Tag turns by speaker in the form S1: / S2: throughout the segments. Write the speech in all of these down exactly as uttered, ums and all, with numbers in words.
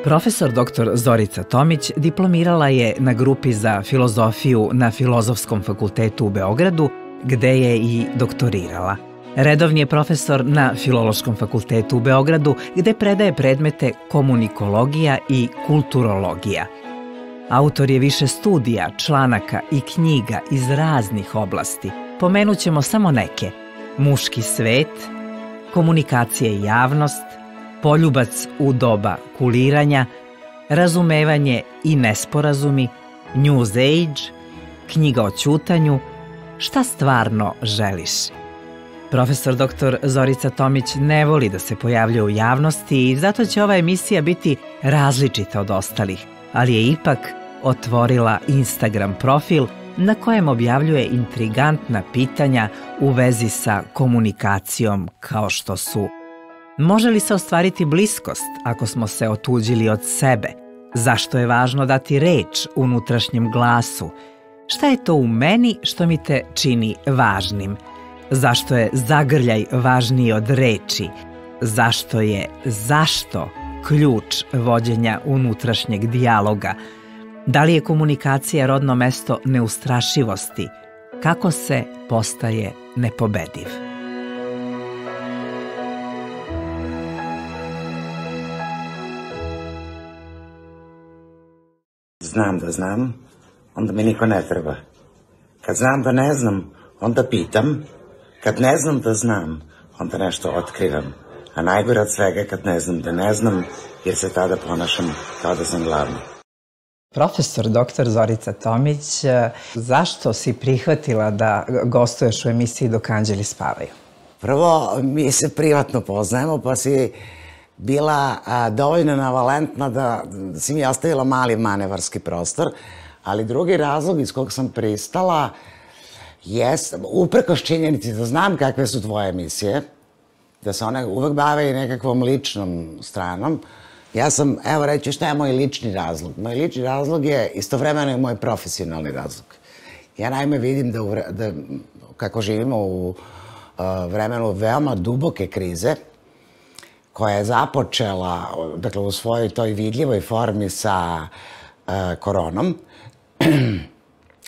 S1: Profesor doktor Zorica Tomić diplomirala je na grupi za filozofiju na Filozofskom fakultetu u Beogradu, gde je i doktorirala. Redovni je profesor na Filološkom fakultetu u Beogradu, gde predaje predmete komunikologija i kulturologija. Autor je više studija, članaka i knjiga iz raznih oblasti. Pomenut ćemo samo neke: Muški svet, Komunikacija i javnost, Poljubac u doba kuliranja, Razumevanje i nesporazumi, News Age, Knjiga o ćutanju, Šta stvarno želiš. Profesor doktor Zorica Tomić ne voli da se pojavljuje u javnosti i zato će ova emisija biti različita od ostalih, ali je ipak otvorila Instagram profil na kojem objavljuje intrigantna pitanja u vezi sa komunikacijom, kao što su: može li se ostvariti bliskost ako smo se otuđili od sebe? Zašto je važno dati reč unutrašnjem glasu? Šta je to u meni što mi te čini važnim? Zašto je zagrljaj važniji od reči? Zašto je zašto ključ vođenja unutrašnjeg dijaloga? Da li je komunikacija rodno mesto neustrašivosti? Kako se postaje nepobediv?
S2: Znam da znam, onda mi niko ne treba. Kad znam da ne znam, onda pitam. Kad ne znam da znam, onda nešto otkrivam. A najgore od svega je kad ne znam da ne znam, jer se tada ponašam kao da sam glavni.
S1: Profesor doktor Zorica Tomić, zašto si prihvatila da gostuješ u emisiji Dok anđeli spavaju?
S2: Prvo, mi se privatno poznajemo, pa si bila dovoljno navalentna da si mi ostavila mali manevarski prostor, ali drugi razlog iz kog sam pristala jest, uprkos činjenici da znam kakve su tvoje emisije, da se one uvek bave i nekakvom ličnom stranom, ja sam, evo reći šta je moj lični razlog. Moj lični razlog je istovremeno i moj profesionalni razlog. Ja naime vidim da, da kako živimo u uh, vremenu veoma duboke krize, koja je započela, dakle, u svojoj toj vidljivoj formi sa uh, koronom,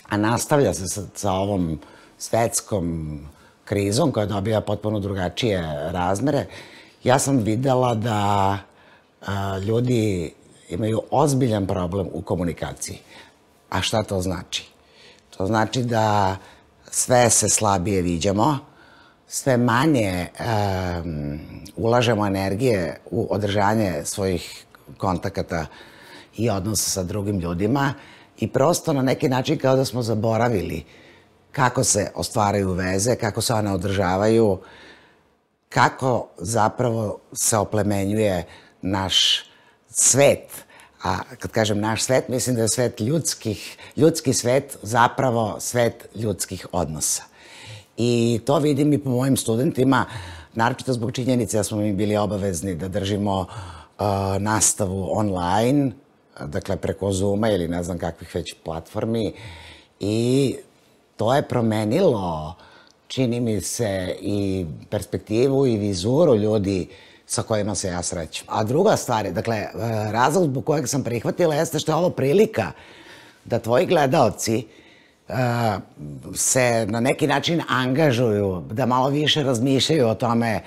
S2: a nastavlja se sa, sa ovom svetskom krizom koja dobija potpuno drugačije razmere, ja sam videla da a, ljudi imaju ozbiljan problem u komunikaciji. A šta to znači? To znači da sve se slabije viđamo, sve manje um, ulažemo energije u održanje svojih kontakata i odnosa sa drugim ljudima i prosto na neki način kao da smo zaboravili kako se ostvaraju veze, kako se one održavaju, kako zapravo se oplemenjuje naš svet. A kad kažem naš svet, mislim da je svet ljudskih, ljudski svet zapravo svet ljudskih odnosa. I to vidim i po mojim studentima, naročito zbog činjenice da smo mi bili obavezni da držimo uh, nastavu online, dakle preko Zooma ili ne znam kakvih već platformi, i to je promenilo, čini mi se, i perspektivu i vizuru ljudi sa kojima se ja srećem. A druga stvar je, dakle, razlog zbog kojeg sam prihvatila jeste što je ovo prilika da tvoji gledaoci uh, se na neki način angažuju, da malo više razmišljaju o tome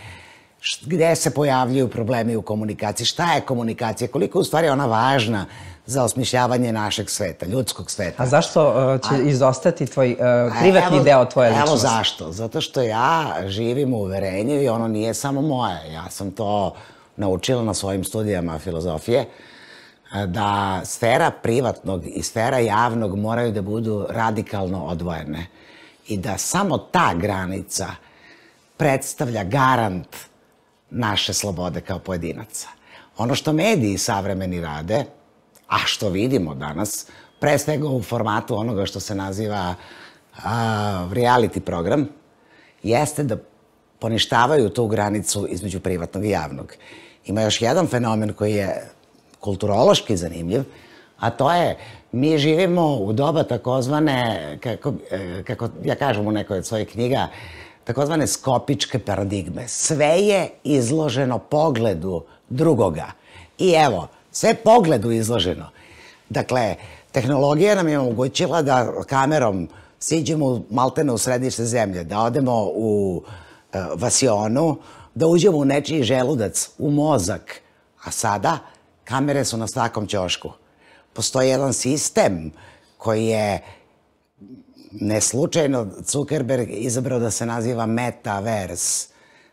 S2: gde se pojavljuju problemi u komunikaciji, šta je komunikacija, koliko u stvari ona važna za osmišljavanje našeg sveta, ljudskog sveta.
S1: A zašto uh, će A, izostati tvoj uh, privatni evo, deo tvoje ličnosti?
S2: Evo zašto. Zato što ja živim u uverenju i ono nije samo moje. Ja sam to naučila na svojim studijama filozofije, da sfera privatnog i sfera javnog moraju da budu radikalno odvojene i da samo ta granica predstavlja garant naše slobode kao pojedinaca. Ono što mediji savremeni rade, a što vidimo danas, pre svega u formatu onoga što se naziva a, reality program, jeste da poništavaju tu granicu između privatnog i javnog. Ima još jedan fenomen koji je kulturološki zanimljiv, a to je, mi živimo u doba takozvane, kako, kako ja kažem u nekoj od svojih knjiga, takozvane skopičke paradigme. Sve je izloženo pogledu drugoga. I evo, sve pogledu izloženo. Dakle, tehnologija nam je omogućila da kamerom siđemo maltene u središte zemlje, da odemo u vasionu, da uđemo u nečiji želudac, u mozak. A sada kamere su na svakom ćošku. Postoji jedan sistem koji je neslučajno Zuckerberg izabrao da se naziva Metaverse,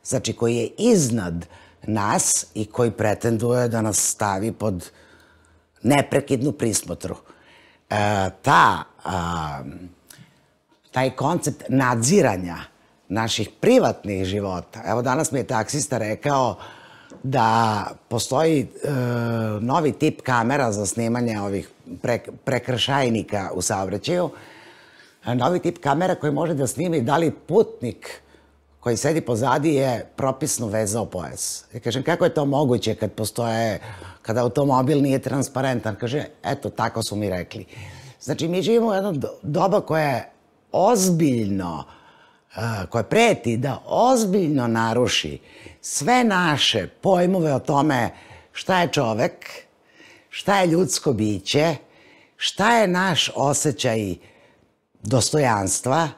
S2: znači koji je iznad nas i koji pretenduje da nas stavi pod neprekidnu prismotru. Ta, taj koncept nadziranja naših privatnih života. Evo, danas mi je taksista rekao da postoji novi tip kamera za snimanje ovih prekršajnika u saobraćaju, novi tip kamera koji može da snimi da li putnik koji sedi pozadi je propisno vezao pojas. Ja kažem, kako je to moguće kad postoje, kada automobil nije transparentan? Kaže, eto, tako su mi rekli. Znači, mi živimo u jedno doba koje je ozbiljno, koje preti da ozbiljno naruši sve naše pojmove o tome šta je čovek, šta je ljudsko biće, šta je naš osjećaj dostojanstva,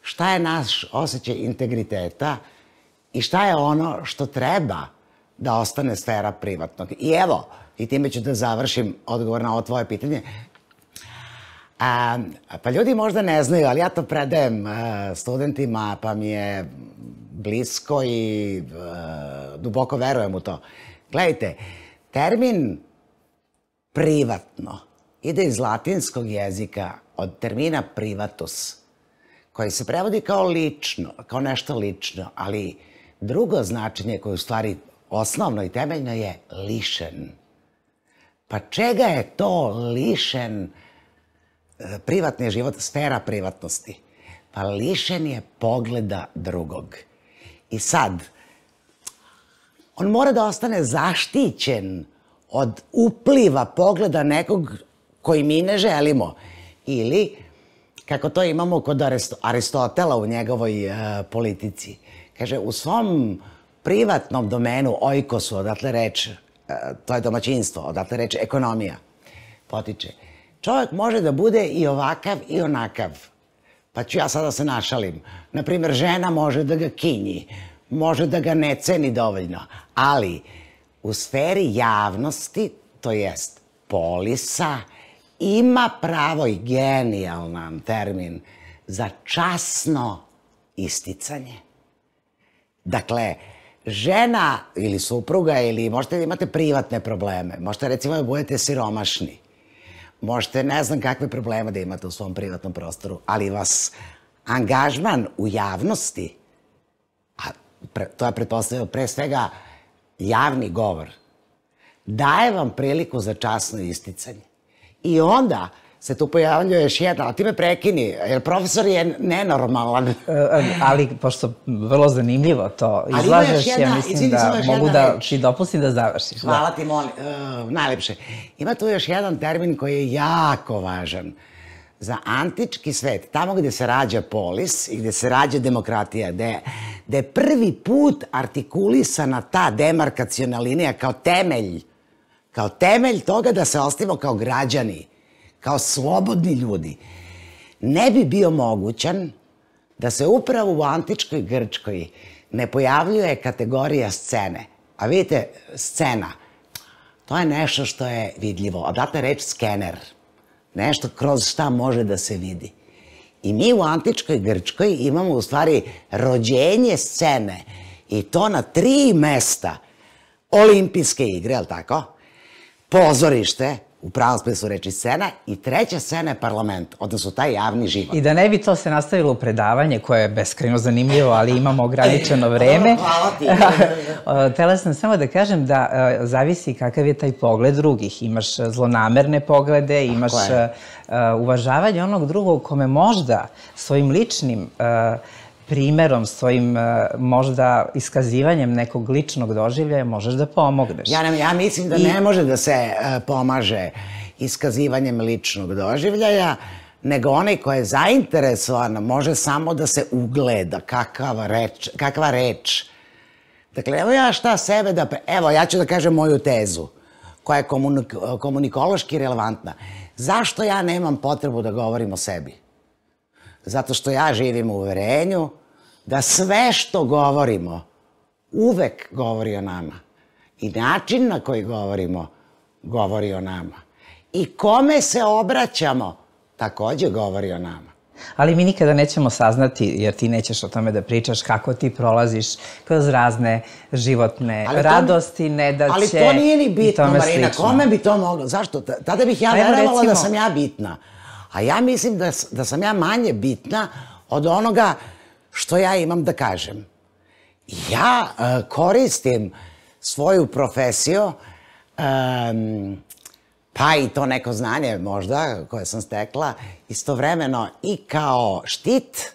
S2: šta je naš osjećaj integriteta i šta je ono što treba da ostane sfera privatnog. I evo, i time ću da završim odgovor na ovo tvoje pitanje. A, pa ljudi možda ne znaju, ali ja to predajem a, studentima, pa mi je blisko i a, duboko verujem u to. Gledajte, termin privatno ide iz latinskog jezika od termina privatus, koji se prevodi kao lično, kao nešto lično, ali drugo značenje koje u stvari osnovno i temeljno je lišen. Pa čega je to lišen privatni život, sfera privatnosti? Pa lišen je pogleda drugog. I sad, on mora da ostane zaštićen od upliva pogleda nekog koji mi ne želimo. Ili, kako to imamo kod Aristotela u njegovoj politici, kaže, u svom privatnom domenu, oikosu, odatle reč, to je domaćinstvo, odatle reč ekonomija, potiče. Čovjek može da bude i ovakav i onakav. Pa ću ja sada se našalim. Naprimer, žena može da ga kinji, može da ga ne ceni dovoljno, ali u sferi javnosti, to jest polisa, ima pravo i genijalan termin za časno isticanje. Dakle, žena ili supruga ili možete da imate privatne probleme, možete recimo da budete siromašni, možete ne znam kakve probleme da imate u svom privatnom prostoru, ali vas angažman u javnosti, a to je pretpostavljeno pre svega javni govor, daje vam priliku za časno isticanje. I onda se tu pojavljuje još jedna, ali ti me prekini, jer profesor je nenormalan.
S1: Ali, pošto vrlo zanimljivo to izlažeš, ja mislim da mogu da ti dopustim da završiš.
S2: Hvala ti, molim, najlepše. Ima tu još jedan termin koji je jako važan za antički svet, tamo gde se rađa polis i gde se rađa demokratija, gde je prvi put artikulisana ta demarkaciona linija kao temelj, kao temelj toga da se ostavimo kao građani, kao slobodni ljudi, ne bi bio mogućan da se upravo u antičkoj Grčkoj ne pojavljuje kategorija scene. A vidite, scena, to je nešto što je vidljivo. Odatle reč skener, nešto kroz šta može da se vidi. I mi u antičkoj Grčkoj imamo u stvari rođenje scene i to na tri mesta. Olimpijske igre, je li tako? Pozorište, u pravom smislu reči scena, i treća scena je parlament, odnosno taj javni život.
S1: I da ne bi to se nastavilo u predavanje, koje je beskrajno zanimljivo, ali imamo ograničeno vreme.
S2: Hvala ti.
S1: Htela sam samo da kažem da zavisi kakav je taj pogled drugih. Imaš zlonamerne poglede, imaš uvažavanje onog drugog kome možda svojim ličnim primerom, svojim možda iskazivanjem nekog ličnog doživljaja možeš da pomogneš.
S2: Ja mislim da ne može da se pomaže iskazivanjem ličnog doživljaja, nego onaj ko je zainteresovan može samo da se ugleda kakva reč. Dakle, evo ja šta sebe da... Evo, ja ću da kažem moju tezu, koja je komunikološki relevantna. Zašto ja nemam potrebu da govorim o sebi? Zato što ja živim u uverenju da sve što govorimo uvek govori o nama. I način na koji govorimo govori o nama. I kome se obraćamo takođe govori o nama.
S1: Ali mi nikada nećemo saznati, jer ti nećeš o tome da pričaš, kako ti prolaziš kroz razne životne radosti, nedaće.
S2: Ali to nije ni bitno, Marina. Kome bi to moglo? Zašto? Tada bih ja verovala da sam ja bitna. A ja mislim da sam ja manje bitna od onoga što ja imam da kažem. Ja koristim svoju profesiju, pa i to neko znanje možda koje sam stekla, istovremeno i kao štit,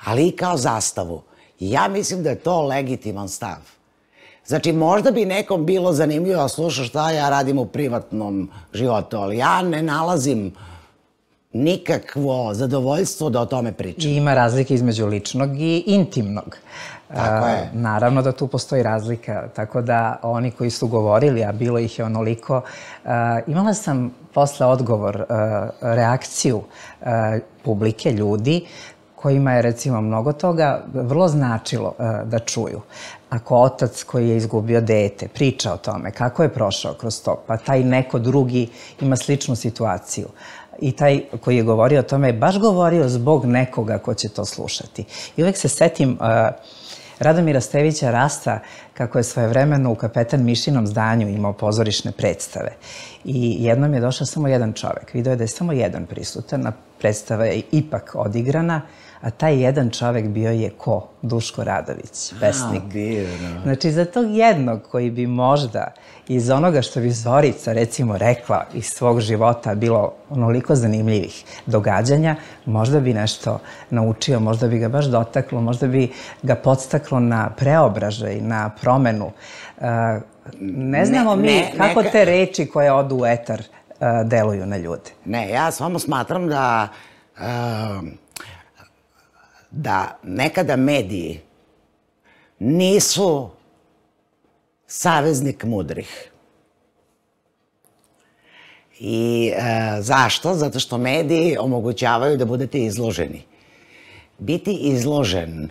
S2: ali i kao zastavu. I ja mislim da je to legitiman stav. Znači, možda bi nekom bilo zanimljivo da sluša šta ja radim u privatnom životu, ali ja ne nalazim nikakvo zadovoljstvo da o tome pričam.
S1: I ima razlike između ličnog i intimnog.
S2: Tako je.
S1: Naravno da tu postoji razlika, tako da oni koji su govorili, a bilo ih je onoliko, imala sam posle odgovor, reakciju publike, ljudi, kojima je recimo mnogo toga vrlo značilo da čuju. Ako otac koji je izgubio dete priča o tome kako je prošao kroz to, pa taj neko drugi ima sličnu situaciju, i taj koji je govorio o tome je baš govorio zbog nekoga ko će to slušati. I uvek se setim Radomira Stevića Rasta, kako je svojevremeno u Kapetan Mišinom zdanju imao pozorišne predstave. I jednom je došao samo jedan čovek. Video je da je samo jedan prisutan, a predstava je ipak odigrana, a taj jedan čovek bio je ko? Duško Radović, pesnik. Znači, za tog jednog koji bi možda iz onoga što bi Zorica, recimo, rekla iz svog života bilo onoliko zanimljivih događanja, možda bi nešto naučio, možda bi ga baš dotaklo, možda bi ga podstaklo na preobražaj, na promenu. Ne znamo mi kako te reči koje odu u etar deluju na ljude.
S2: Ne, ja samo smatram da da nekada mediji nisu saveznik mudrih. I zašto? Zato što mediji omogućavaju da budete izloženi. Biti izložen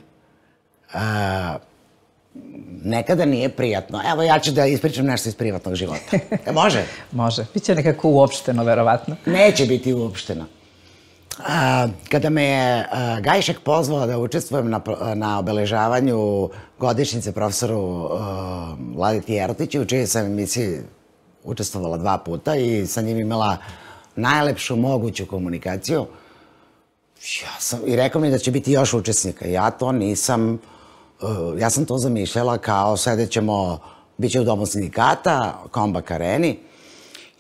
S2: nekada nije prijatno. Evo, ja ću da ispričam nešto iz privatnog života. Može?
S1: Može. Biće nekako uopšteno, verovatno.
S2: Neće biti uopšteno. Kada me je Gajšek pozvala da učestvujem na obeležavanju godišnjice profesoru Vladeti Jerotiću, u čijoj sam emisiji učestvovala dva puta i sa njim imala najlepšu moguću komunikaciju, i rekao mi da će biti još učesnika. Ja to nisam, ja sam to zamišljala kao sedećemo, bit će u Domu sindikata, Kombak areni,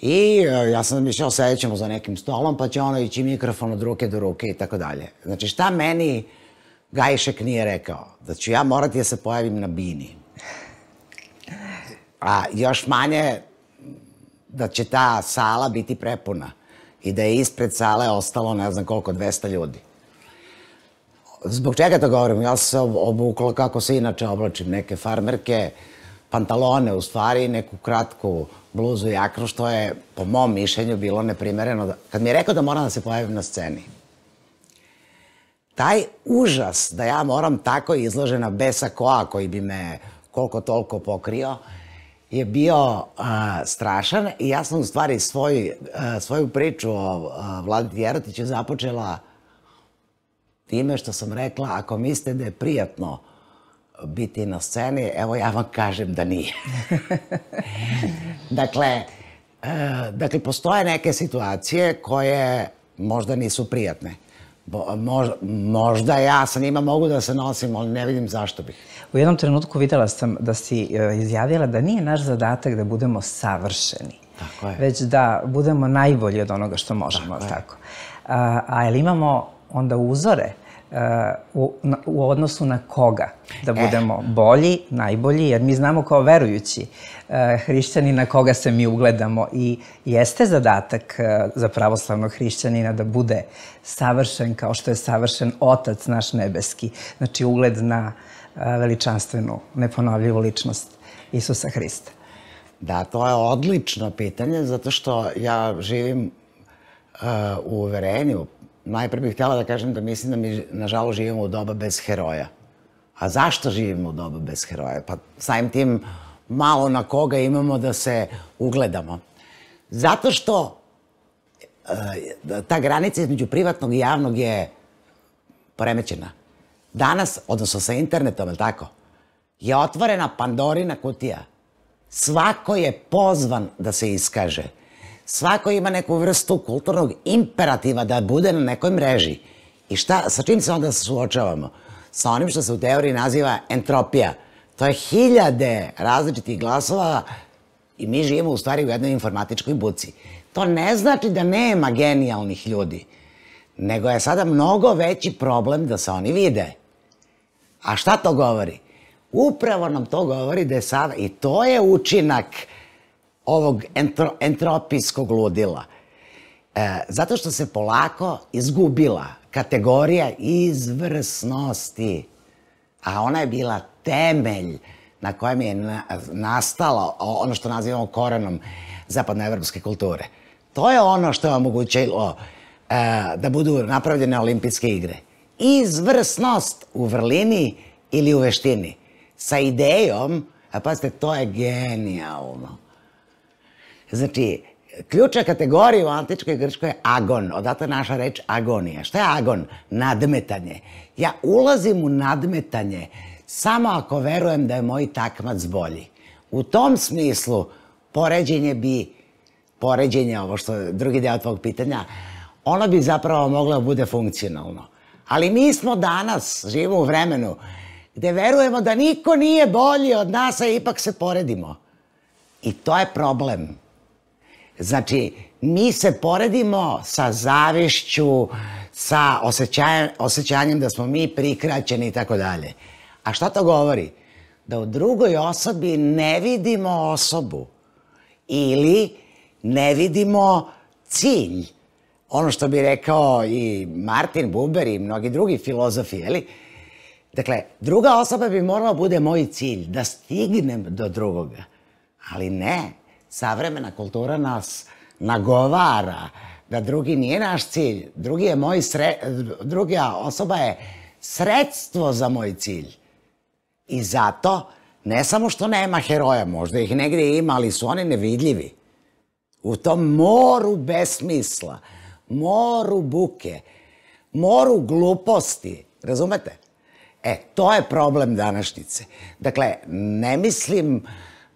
S2: i ja sam zamišljala sedjet ćemo za nekim stolom, pa će ono ići mikrofon od ruke do ruke i tako dalje. Znači, šta meni Gajšek nije rekao? Da ću ja morati da se pojavim na bini. A još manje da će ta sala biti prepuna i da je ispred sale ostalo ne znam koliko, dvesta ljudi. Zbog čega to govorim? Ja sam se obukla kako se inače oblačim, neke farmerke, pantalone u stvari, neku kratku bluzu i jaknu, što je po mom mišljenju bilo neprimereno. Kad mi je rekao da moram da se pojavim na sceni, taj užas da ja moram tako izložena bez sakoa koji bi me koliko toliko pokrio je bio strašan i ja sam u stvari svoju priču o Vladeti Jerotiću započela time što sam rekla, ako mislite da je prijatno biti na sceni, evo ja vam kažem da nije. Dakle, dakle, postoje neke situacije koje možda nisu prijatne. Možda ja sa njima mogu da se nosim, ali ne vidim zašto bih.
S1: U jednom trenutku videla sam da si izjavila da nije naš zadatak da budemo savršeni, već da budemo najbolji od onoga što možemo. A jel imamo onda uzore u odnosu na koga da budemo bolji, najbolji, jer mi znamo kao verujući hrišćani na koga se mi ugledamo i jeste zadatak za pravoslavnog hrišćanina da bude savršen kao što je savršen Otac naš nebeski, znači ugled na veličanstvenu, neponovljivu ličnost Isusa Hrista.
S2: Da, to je odlično pitanje, zato što ja živim uh, u uverenju. Najpre bih htjela da kažem da mislim da mi, nažalost, živimo u doba bez heroja. A zašto živimo u doba bez heroja? Pa samim tim malo na koga imamo da se ugledamo. Zato što uh, ta granica između privatnog i javnog je poremećena. Danas, odnosno sa internetom, je tako, je otvorena Pandorina kutija. Svako je pozvan da se iskaže. Svako ima neku vrstu kulturnog imperativa da bude na nekoj mreži. I šta, sa čim se onda suočavamo? Sa onim što se u teoriji naziva entropija. To je hiljade različitih glasova i mi živimo u stvari u jednoj informatičkoj buci. To ne znači da nema genijalnih ljudi, nego je sada mnogo veći problem da se oni vide. A šta to govori? Upravo nam to govori da je sada, i to je učinak ovog entro, entropijskog ludila. E, zato što se polako izgubila kategorija izvrsnosti, a ona je bila temelj na kojem je na, nastalo ono što nazivamo korenom zapadnoevropske kulture. To je ono što je omogućilo e, da budu napravljene olimpijske igre. Izvrsnost u vrlini ili u veštini. Sa idejom, a pazite, to je genijalno. Znači, ključna kategorija u antičkoj Grčkoj je agon, odatle naša reč agonija. Šta je agon? Nadmetanje. Ja ulazim u nadmetanje samo ako verujem da je moj takmac bolji. U tom smislu, poređenje bi, poređenje, ovo što je drugi deo tvog pitanja, ono bi zapravo moglo da bude funkcionalno. Ali mi smo danas, živimo u vremenu, gde verujemo da niko nije bolji od nas, a ipak se poredimo. I to je problem. Znači, mi se poredimo sa zavišću, sa osjećanjem, osjećanjem da smo mi prikraćeni i tako dalje. A šta to govori? Da u drugoj osobi ne vidimo osobu ili ne vidimo cilj. Ono što bi rekao i Martin Buber i mnogi drugi filozofi, jeli? Dakle, druga osoba bi morala bude moj cilj, da stignem do drugoga. Ali ne, savremena kultura nas nagovara da drugi nije naš cilj. Drugi je moj sre... Druga osoba je sredstvo za moj cilj. I zato, ne samo što nema heroja, možda ih negdje ima, ali su oni nevidljivi. U tom moru besmisla, moru buke, moru gluposti, razumete? E, to je problem današnjice. Dakle, ne mislim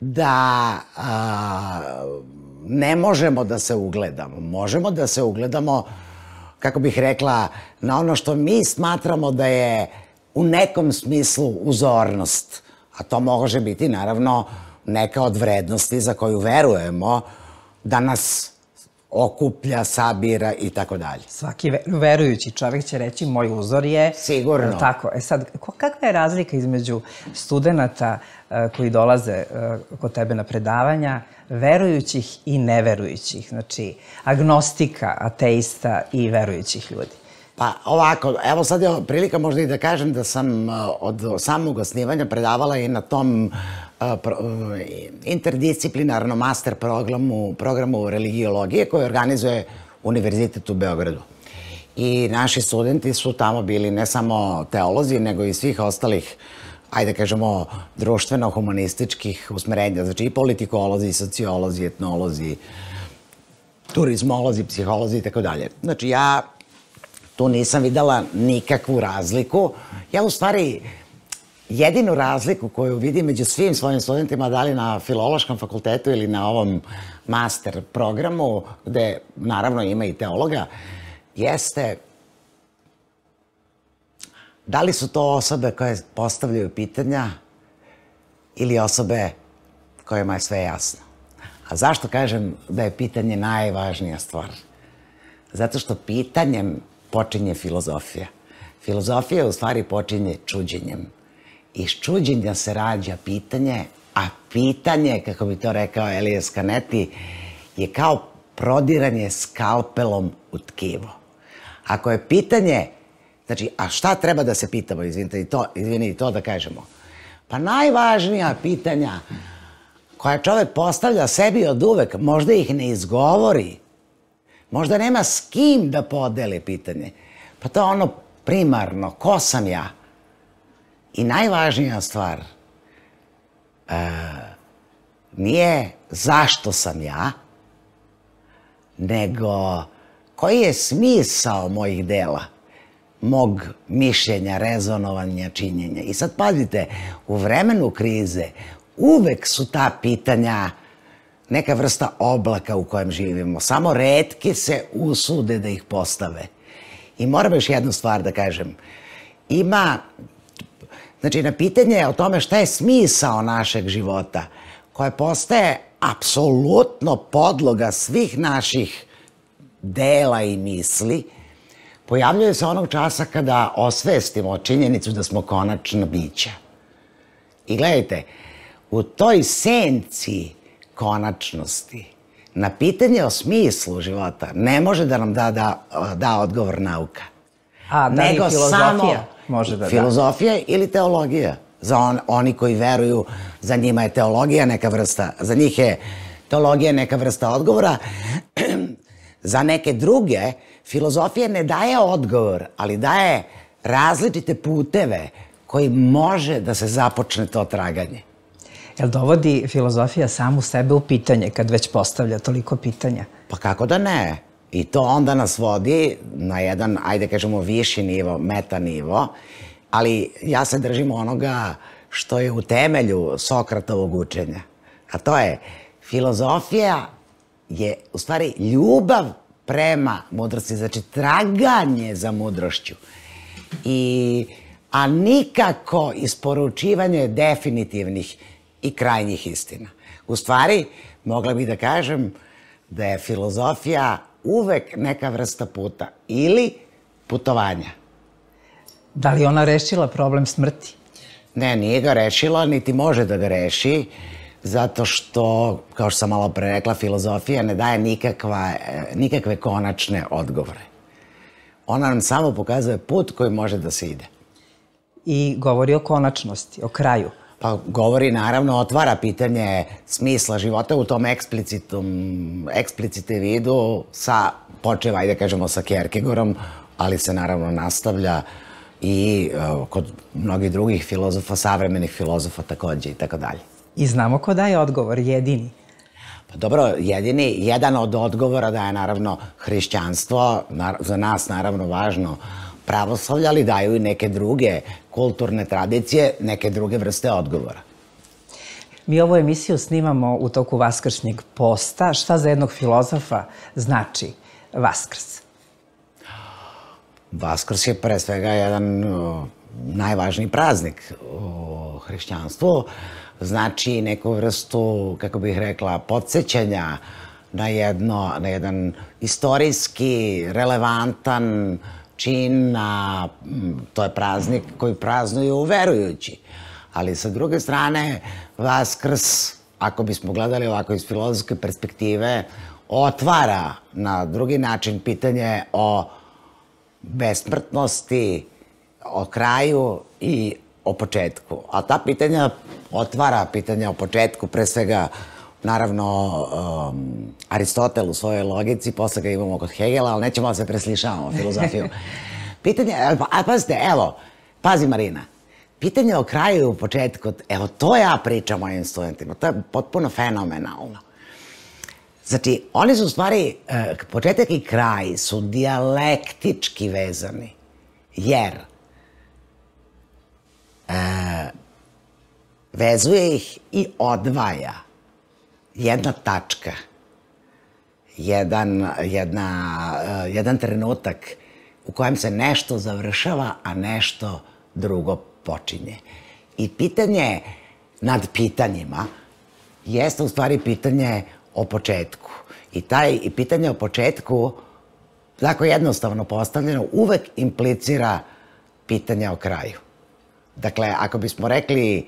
S2: da a, ne možemo da se ugledamo. Možemo da se ugledamo, kako bih rekla, na ono što mi smatramo da je u nekom smislu uzornost. A to može biti, naravno, neka od vrednosti za koju verujemo da nas okuplja, sabira i tako dalje.
S1: Svaki verujući čovjek će reći moj uzor je...
S2: Sigurno.
S1: Tako. E sad, kakva je razlika između studenta koji dolaze kod tebe na predavanja, verujućih i neverujućih? Znači, agnostika, ateista i verujućih ljudi.
S2: Pa ovako, evo sad je prilika možda i da kažem da sam od samog osnivanja predavala i na tom interdisciplinarnom master programu, programu religijologije koji organizuje Univerzitet u Beogradu. I naši studenti su tamo bili ne samo teolozi, nego i svih ostalih, ajde kažemo, društveno-humanističkih usmerenja. Znači i politikolozi, i sociolozi, etnolozi, turizmolozi, psiholozi i tako dalje. Znači ja tu nisam videla nikakvu razliku. Ja u stvari jedinu razliku koju vidim među svim svojim studentima, da li na Filološkom fakultetu ili na ovom master programu, gde naravno ima i teologa, jeste da li su to osobe koje postavljaju pitanja ili osobe kojima je sve jasno. A zašto kažem da je pitanje najvažnija stvar? Zato što pitanjem počinje filozofija. Filozofija u stvari počinje čuđenjem. Iz čuđenja se rađa pitanje, a pitanje, kako bi to rekao Elias Canetti, je kao prodiranje skalpelom u tkivo. Ako je pitanje, znači, a šta treba da se pitamo, izvinite, i to, izvini, i to da kažemo? Pa najvažnija pitanja koja čovek postavlja sebi od uvek, možda ih ne izgovori, možda nema s kim da podeli pitanje. Pa to je ono primarno, ko sam ja? I najvažnija stvar, nije zašto sam ja, nego koji je smisao mojih dela, mog mišljenja, rezonovanja, činjenja. I sad pazite, u vremenu krize uvek su ta pitanja neka vrsta oblaka u kojem živimo. Samo retki se usude da ih postave. I moram još jednu stvar da kažem. Ima, znači na pitanje o tome šta je smisao našeg života, koje postaje apsolutno podloga svih naših dela i misli, pojavljuje se onog časa kada osvestimo činjenicu da smo konačna bića. I gledajte, u toj senci konačnosti, na pitanje o smislu života ne može da nam da, da, da odgovor nauka.
S1: A da li filozofija može da da?
S2: Filozofija ili teologija. Za on, oni koji veruju, za njima je teologija neka vrsta, za njih je teologija neka vrsta odgovora. Za neke druge, filozofija ne daje odgovor, ali daje različite puteve koji može da se započne to traganje.
S1: Jel dovodi filozofija samu sebe u pitanje kad već postavlja toliko pitanja?
S2: Pa kako da ne? I to onda nas vodi na jedan, ajde kažemo, viši nivo, meta nivo, ali ja se držim onoga što je u temelju Sokratovog učenja. A to je, filozofija je u stvari ljubav prema mudrosti, znači traganje za mudrošću. I, a nikako isporučivanje definitivnih i krajnjih istina. U stvari, mogla bih da kažem da je filozofija uvek neka vrsta puta ili putovanja.
S1: Da li ona rešila problem smrti?
S2: Ne, nije ga rešila, niti može da ga reši, zato što, kao što sam malo pre rekla, filozofija ne daje nikakva, nikakve konačne odgovore. Ona nam samo pokazuje put koji može da se ide.
S1: I govori o konačnosti, o kraju.
S2: Pa govori, naravno, otvara pitanje smisla života u tom eksplicitnom, eksplicite vidu sa, počeva, ajde kažemo, sa Kierkegaardom, ali se naravno nastavlja i uh, kod mnogih drugih filozofa, savremenih filozofa takođe i tako dalje.
S1: I znamo ko daje odgovor, jedini.
S2: Pa dobro, jedini, jedan od odgovora daje naravno hrišćanstvo, za nas naravno važno pravoslavlje, ali daju i neke druge kulturne tradicije, neke druge vrste odgovora.
S1: Mi ovu emisiju snimamo u toku vaskršnjeg posta. Šta za jednog filozofa znači Vaskrs?
S2: Vaskrs je pre svega jedan najvažniji praznik u hrišćanstvu. Znači neku vrstu, kako bih rekla, podsjećanja na, jedno, na jedan istorijski, relevantan čin, a to je praznik koji praznuju verujući. Ali sa druge strane, Vaskrs, ako bismo gledali ovako iz filozofske perspektive, otvara na drugi način pitanje o besmrtnosti, o kraju i o početku. A ta pitanja otvara pitanja o početku, pre svega, naravno, um, Aristotel u svojoj logici, posle ga imamo kod Hegela, ali nećemo da se preslišavamo filozofiju. Pitanje, a pazite, evo, pazi Marina, pitanje o kraju i o početku, evo, to ja pričam mojim studentima, to je potpuno fenomenalno. Znači, oni su u stvari, početak i kraj su dijalektički vezani, jer e, vezuje ih i odvaja jedna tačka, jedan, jedna, jedan trenutak u kojem se nešto završava, a nešto drugo počinje. I pitanje nad pitanjima jeste u stvari pitanje o početku. I taj i pitanje o početku, tako jednostavno postavljeno, uvek implicira pitanje o kraju. Dakle, ako bismo rekli,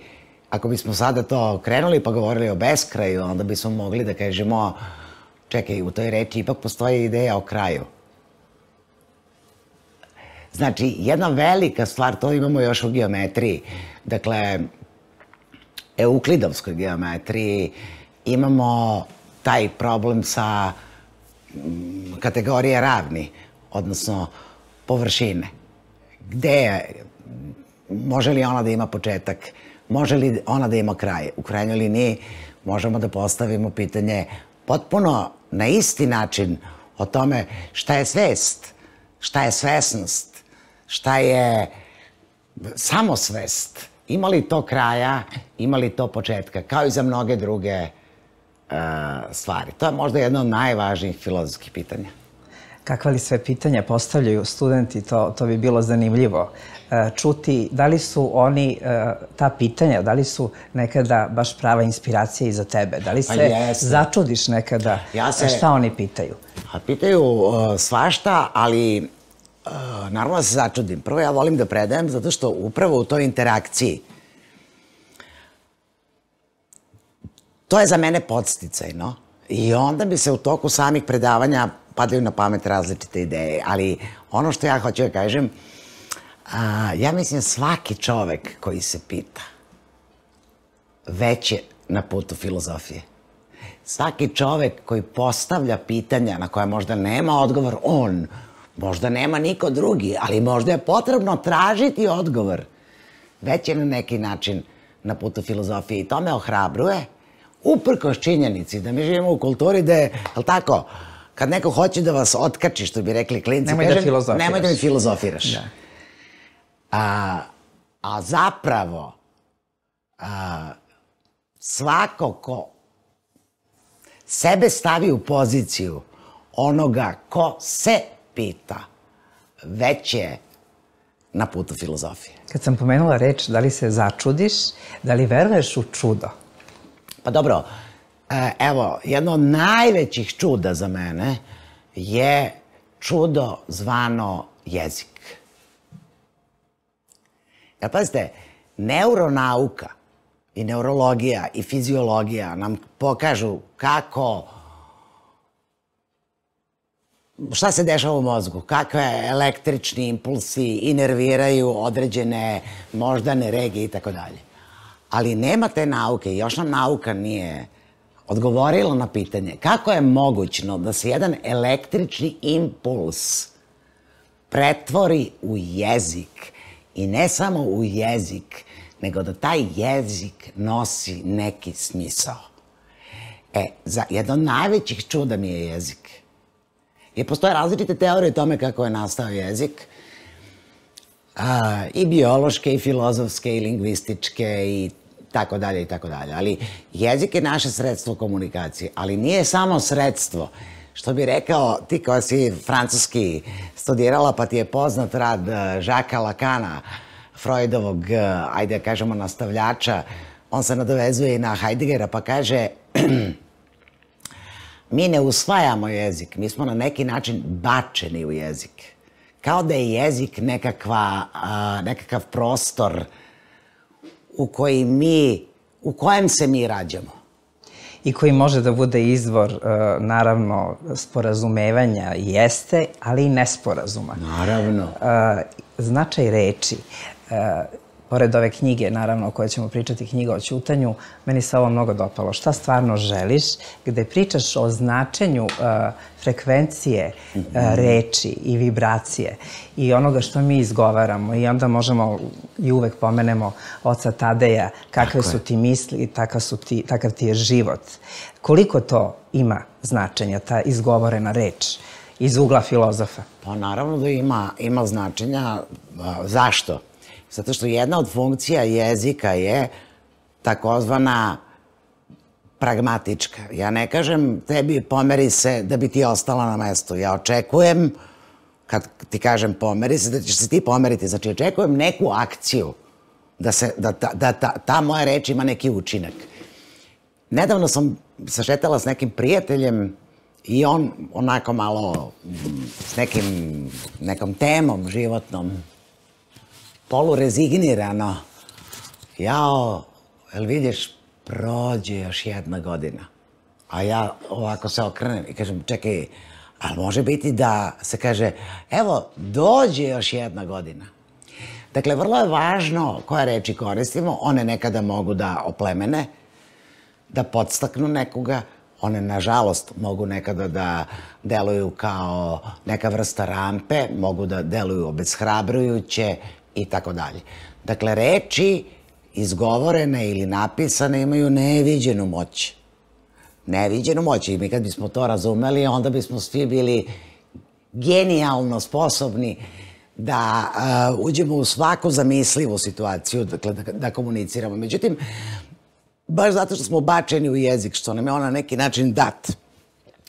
S2: ako bismo sada to krenuli pa govorili o beskraju, onda bismo mogli da kažemo, čekaj, u toj reči ipak postoji ideja o kraju. Znači, jedna velika stvar, to imamo još u geometriji, dakle, euklidovskoj geometriji imamo taj problem sa kategorije ravni, odnosno površine. Gde je, može li ona da ima početak, može li ona da ima kraj? U krajnjoj liniji možemo da postavimo pitanje potpuno na isti način o tome šta je svest, šta je svesnost, šta je samosvest. Ima li to kraja, ima li to početka, kao i za mnoge druge stvari. To je možda jedno od najvažnijih filozofskih pitanja.
S1: Kakva li sve pitanja postavljaju studenti, to, to bi bilo zanimljivo čuti. Da li su oni, ta pitanja, da li su nekada baš prava inspiracija i za tebe? Da li se začudiš nekada šta oni pitaju?
S2: Pitaju svašta, ali naravno da se začudim. Prvo ja volim da predajem zato što upravo u toj interakciji to je za mene podsticajno i onda bi se u toku samih predavanja padaju na pamet različite ideje, ali ono što ja hoću da kažem, ja mislim svaki čovek koji se pita već je na putu filozofije. Svaki čovek koji postavlja pitanja na koja možda nema odgovor on, možda nema niko drugi, ali možda je potrebno tražiti odgovor, već je na neki način na putu filozofije i to me ohrabruje. Uprkos činjenici da mi živimo u kulturi da je, je li tako, kad neko hoće da vas otkači, što bi rekli klinci,
S1: nemoj da filozofiraš.
S2: Nemoj da mi filozofiraš. A zapravo, svako ko sebe stavi u poziciju onoga ko se pita, već je na putu filozofije.
S1: Kad sam pomenula reč, da li se začudiš, da li veruješ u čudo?
S2: Pa dobro, evo, jedno od najvećih čuda za mene je čudo zvano jezik. Ja, pazite, neuronauka i neurologija i fiziologija nam pokažu kako, šta se dešava u mozgu, kakve električni impulsi inerviraju određene moždane regije i tako dalje. Ali nema te nauke, još nam nauka nije odgovorila na pitanje kako je mogućno da se jedan električni impuls pretvori u jezik i ne samo u jezik, nego da taj jezik nosi neki smisao. E, za jedno od najvećih čuda mi je jezik. Jer postoje različite teorije o tome kako je nastao jezik, i biološke, i filozofske, i lingvističke, i tako dalje, i tako dalje. Ali jezik je naše sredstvo komunikacije, ali nije samo sredstvo. Što bi rekao, ti koja si francuski studirala, pa ti je poznat rad Jacquesa Lacana, Freudovog, ajde da kažemo, nastavljača, on se nadovezuje i na Heideggera, pa kaže mi ne usvajamo jezik, mi smo na neki način bačeni u jezik. Kao da je jezik nekakav prostor u koji mi, u kojem se mi rađamo.
S1: I koji može da bude izvor, naravno, sporazumevanja jeste, ali i nesporazuma.
S2: Naravno.
S1: Značaj reči, pored ove knjige, naravno, o kojoj ćemo pričati, knjiga o ćutanju, meni se ovo mnogo dopalo. Šta stvarno želiš, gde pričaš o značenju frekvencije reči i vibracije i onoga što mi izgovaramo i onda možemo i uvek pomenemo oca Tadeja, kakve su ti misli, takav ti je život. Koliko to ima značenja, ta izgovorena reč iz ugla filozofa?
S2: Pa naravno da ima značenja. Zašto? Zato što jedna od funkcija jezika je takozvana pragmatička. Ja ne kažem tebi pomeri se da bi ti ostala na mestu. Ja očekujem, kad ti kažem pomeri se, da ćeš se ti pomeriti. Znači, očekujem neku akciju, da ta moja reč ima neki učinak. Nedavno sam se šetala s nekim prijateljem i on onako malo s nekom temom životnom, polurezignirano, jao, jel vidiš, prođe još jedna godina. A ja ovako se okrenem i kažem, čekaj, ali može biti da se kaže, evo, dođe još jedna godina. Dakle, vrlo je važno koje reči koristimo, one nekada mogu da oplemene, da podstaknu nekoga. One, nažalost, mogu nekada da deluju kao neka vrsta rampe, mogu da deluju obeshrabrujuće i tako dalje. Dakle, reči izgovorene ili napisane imaju neviđenu moć. Neviđenu moć. I mi kad bismo to razumeli, onda bismo svi bili genijalno sposobni da uh, uđemo u svaku zamislivu situaciju, dakle, da, da komuniciramo. Međutim, baš zato što smo bačeni u jezik, što nam je on na neki način dat,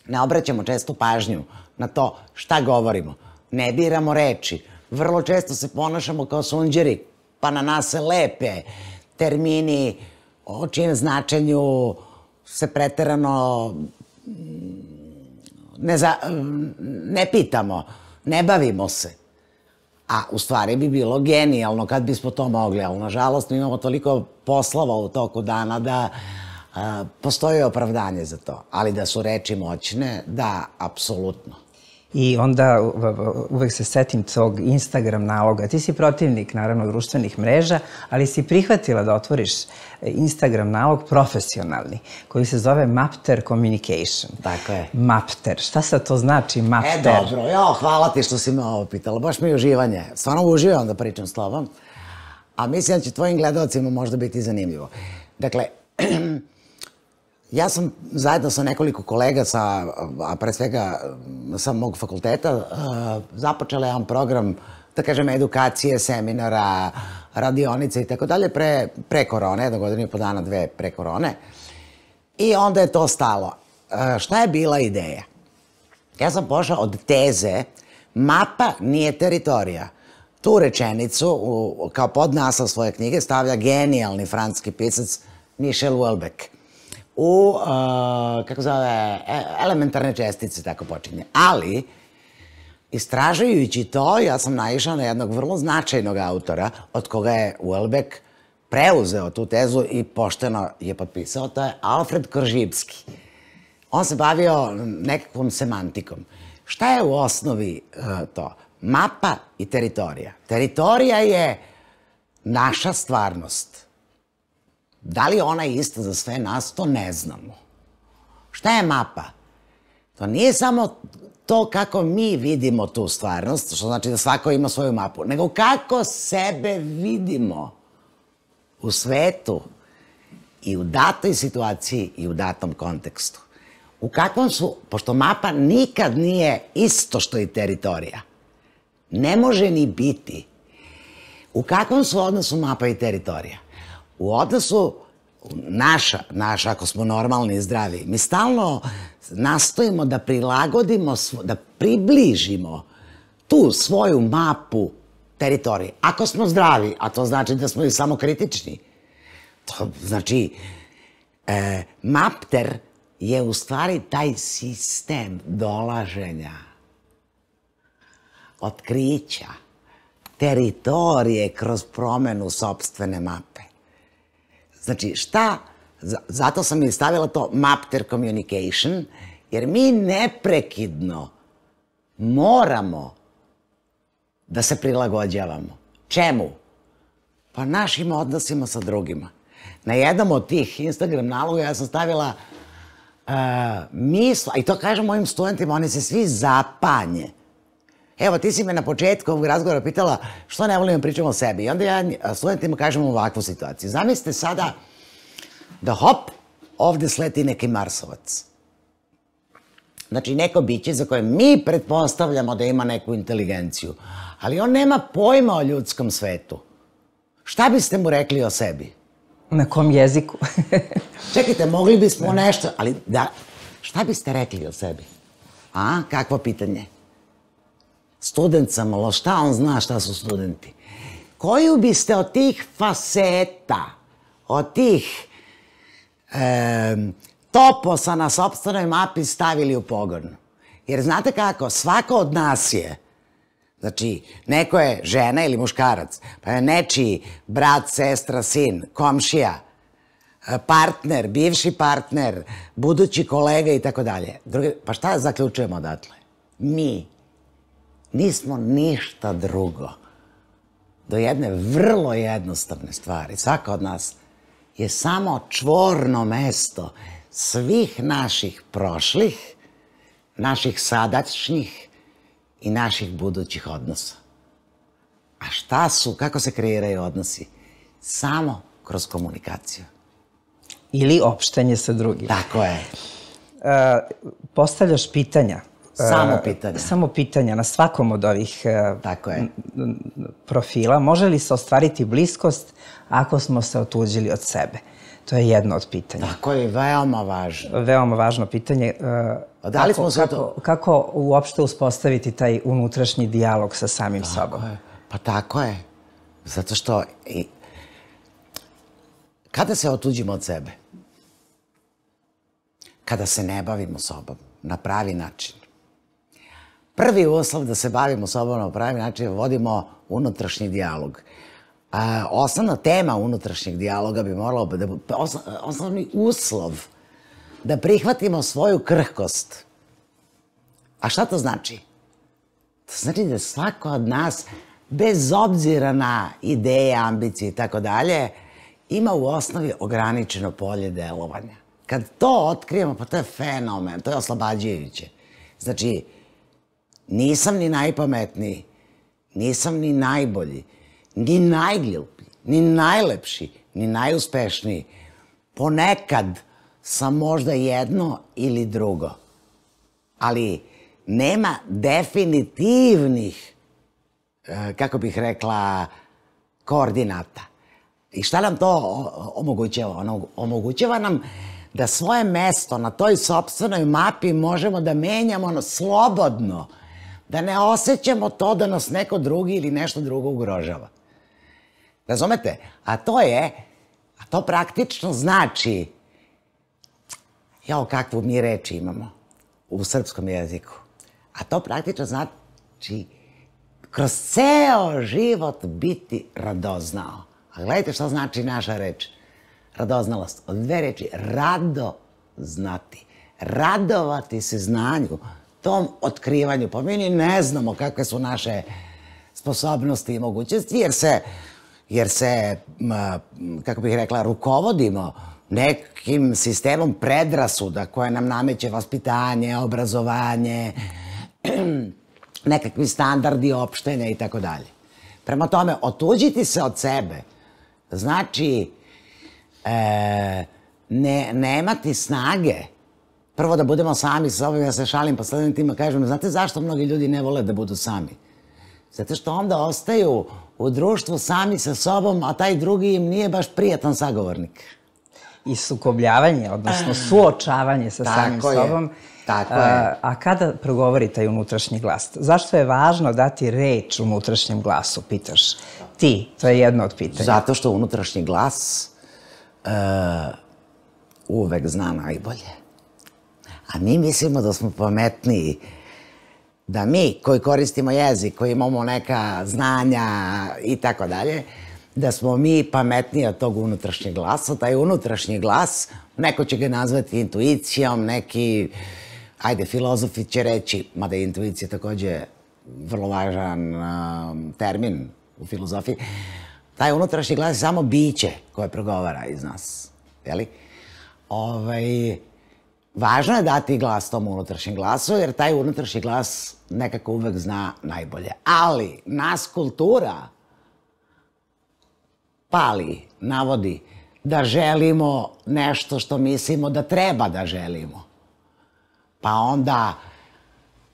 S2: ne obraćamo često pažnju na to šta govorimo. Ne biramo reči. Vrlo često se ponašamo kao sunđeri, pa na nas se lepe termini o čijem značenju se preterano ne, za, ne pitamo, ne bavimo se. A u stvari bi bilo genijalno kad bismo to mogli, ali nažalost mi imamo toliko poslova u toku dana da a, postoji opravdanje za to. Ali da su reči moćne, da, apsolutno.
S1: I onda uvek se setim tog Instagram naloga. Ti si protivnik, naravno, društvenih mreža, ali si prihvatila da otvoriš Instagram nalog profesionalni, koji se zove Mapter Communication.
S2: Tako je.
S1: Mapter. Šta sad to znači Mapter?
S2: E, dobro. Jo, hvala ti što si me ovo pitala. Baš mi je uživanje. Stvarno uživam da pričam s tobom. A mislim da će tvojim gledalcima možda biti zanimljivo. Dakle, ja sam zajedno sa nekoliko kolega, sa, a pre svega sa mog fakulteta, započela jedan program, da kažem, edukacije, seminara, radionice i tako dalje, pre, pre korone, jedno godinu i po dana, dve pre korone. I onda je to stalo. Šta je bila ideja? Ja sam pošla od teze mapa nije teritorija. Tu rečenicu, u, kao podnaslov svoje knjige, stavlja genijalni francuski pisac Michel Houellebecq. U, uh, kako zove, elementarne čestice, tako počinje. Ali, istražujući to, ja sam naišla na jednog vrlo značajnog autora, od koga je Houellebecq preuzeo tu tezu i pošteno je potpisao, to je Alfred Koržibski. On se bavio nekakvom semantikom. Šta je u osnovi uh, to? Mapa i teritorija. Teritorija je naša stvarnost. Da li ona je ista za sve nas, to ne znamo. Šta je mapa? To nije samo to kako mi vidimo tu stvarnost, što znači da svako ima svoju mapu, nego kako sebe vidimo u svetu i u datoj situaciji i u datom kontekstu. U kakvom su, pošto mapa nikad nije isto što i teritorija, ne može ni biti. U kakvom su odnosu mapa i teritorija? U odnosu naša, naša, ako smo normalni i zdravi, mi stalno nastojimo da prilagodimo, da približimo tu svoju mapu teritorije. Ako smo zdravi, a to znači da smo i samokritični, to znači, e, Mapter je u stvari taj sistem dolaženja, otkrića, teritorije kroz promenu sopstvene mape. Znači, šta? Zato sam i stavila to Mapter Communication, jer mi neprekidno moramo da se prilagođavamo. Čemu? Pa našim odnosima sa drugima. Na jednom od tih Instagram naloga ja sam stavila uh, misla, i to kažem mojim studentima, oni se svi zapanje. Evo, ti si me na početku ovog razgovora pitala što ne volim da pričamo o sebi. I onda ja studentima kažem ovakvu situaciju. Zamislite sada da hop, ovde sleti neki Marsovac. Znači, neko biće za koje mi pretpostavljamo da ima neku inteligenciju, ali on nema pojma o ljudskom svetu. Šta biste mu rekli o sebi?
S1: Na kom jeziku?
S2: Čekajte, mogli bismo nešto, ali da, šta biste rekli o sebi? A, kakvo pitanje? Student sam, ali šta on zna šta su studenti? Koju biste od tih faseta, od tih e, toposa na sopstvenoj mapi stavili u pogon? Jer znate kako, svako od nas je, znači, neko je žena ili muškarac, pa je nečiji brat, sestra, sin, komšija, partner, bivši partner, budući kolega i tako dalje. Pa šta zaključujemo odatle? Mi nismo ništa drugo do jedne vrlo jednostavne stvari. Svaka od nas je samo čvorno mesto svih naših prošlih, naših sadašnjih i naših budućih odnosa. A šta su, kako se kreiraju odnosi? Samo kroz komunikaciju.
S1: Ili opštenje sa drugim.
S2: Tako je.
S1: Postavljaš pitanja.
S2: Samo pitanja.
S1: Samo pitanja na svakom od ovih
S2: Tako je.
S1: profila. Može li se ostvariti bliskost ako smo se otuđili od sebe? To je jedno od pitanja.
S2: Tako je, veoma važno.
S1: Veoma važno pitanje.
S2: Da li smo se
S1: Kako, kako uopšte uspostaviti taj unutrašnji dijalog sa samim sobom?
S2: Tako je. Pa tako je. Zato što i kada se otuđimo od sebe, kada se ne bavimo sobom na pravi način, prvi uslov da se bavimo sobom na pravi način je vodimo unutrašnji dijalog. A, osnovna tema unutrašnjeg dijaloga bi morala da bude osnovni uslov da prihvatimo svoju krhkost. A šta to znači? To znači da svako od nas, bez obzira na ideje, ambicije i tako dalje, ima u osnovi ograničeno polje delovanja. Kad to otkrijemo, pa to je fenomen, to je oslobađajuće. Znači, nisam ni najpametniji, nisam ni najbolji, ni najgluplji, ni najlepši, ni najuspešniji. Ponekad sam možda jedno ili drugo, ali nema definitivnih, kako bih rekla, koordinata. I šta nam to omogućava? Ono omogućava nam da svoje mesto na toj sopstvenoj mapi možemo da menjamo slobodno, da ne osjećamo to da nas neko drugi ili nešto drugo ugrožava. Razumete? A to je, a to praktično znači, jao, kakvu mi reči imamo u srpskom jeziku, a to praktično znači kroz ceo život biti radoznao. A gledajte šta znači naša reč. Radoznalost. Od dve reči. Rado znati. Radovati se znanju. Tom otkrivanju. Pa mi ni ne znamo kakve su naše sposobnosti i mogućnosti, jer se, jer se, kako bih rekla, rukovodimo nekim sistemom predrasuda koje nam nameće vaspitanje, obrazovanje, nekakvi standardi opštenja i tako dalje. Prema tome, otuđiti se od sebe znači e, ne, nemati snage. Prvo da budemo sami sa sobom, ja se šalim po studentima, kažem, znate zašto mnogi ljudi ne vole da budu sami? Zato što onda ostaju u društvu sami sa sobom, a taj drugi im nije baš prijatan sagovornik.
S1: I sukobljavanje, odnosno suočavanje sa samim sobom.
S2: Tako je.
S1: A kada progovori taj unutrašnji glas? Zašto je važno dati reč unutrašnjem glasu, pitaš ti? To je jedno od pitanja.
S2: Zato što unutrašnji glas uvek zna najbolje. A mi mislimo da smo pametniji, da mi koji koristimo jezik, koji imamo neka znanja i tako dalje, da smo mi pametniji od tog unutrašnjeg glasa. Taj unutrašnji glas, neko će ga nazvati intuicijom, neki, ajde, filozofi će reći, mada je intuicija takođe vrlo važan um, termin u filozofiji, taj unutrašnji glas je samo biće koje progovara iz nas. Jeli? Ovaj, važno je dati glas tom unutrašnjem glasu, jer taj unutrašnji glas nekako uvek zna najbolje. Ali nas kultura pali, navodi da želimo nešto što mislimo da treba da želimo. Pa onda,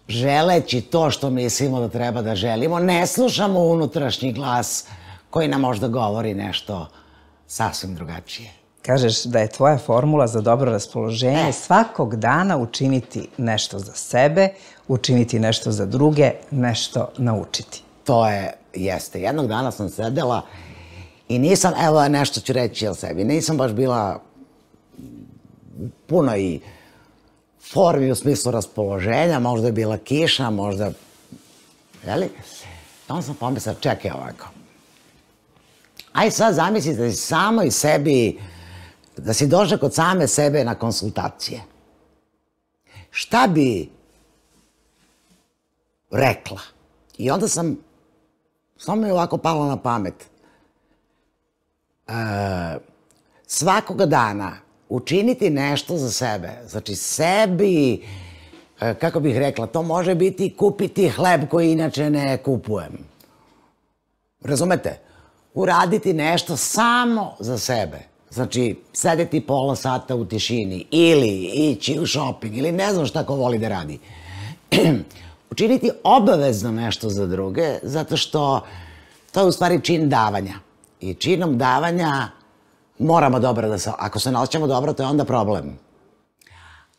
S2: želeći to što mislimo da treba da želimo, ne slušamo unutrašnji glas koji nam možda govori nešto sasvim drugačije.
S1: Kažeš da je tvoja formula za dobro raspoloženje svakog dana učiniti nešto za sebe, učiniti nešto za druge, nešto naučiti.
S2: To je, jeste. Jednog dana sam sedela i nisam, evo nešto ću reći o sebi, nisam baš bila puno i formi u smislu raspoloženja, možda je bila kiša, možda, jeli? Onda sam pomislila, čekaj ovako. Aj sad zamislite da si samo i sebi, da si došla kod same sebe na konsultacije. Šta bi rekla? I onda sam, samo mi je ovako palo na pamet. E, svakoga dana učiniti nešto za sebe. Znači, sebi, kako bih rekla, to može biti kupiti hleb koji inače ne kupujem. Razumete? Uraditi nešto samo za sebe. Znači, sedeti pola sata u tišini ili ići u shopping ili ne znam šta ko voli da radi. Učiniti obavezno nešto za druge, zato što to je u stvari čin davanja. I činom davanja moramo dobro da se... Ako se ne osjećamo dobro, to je onda problem.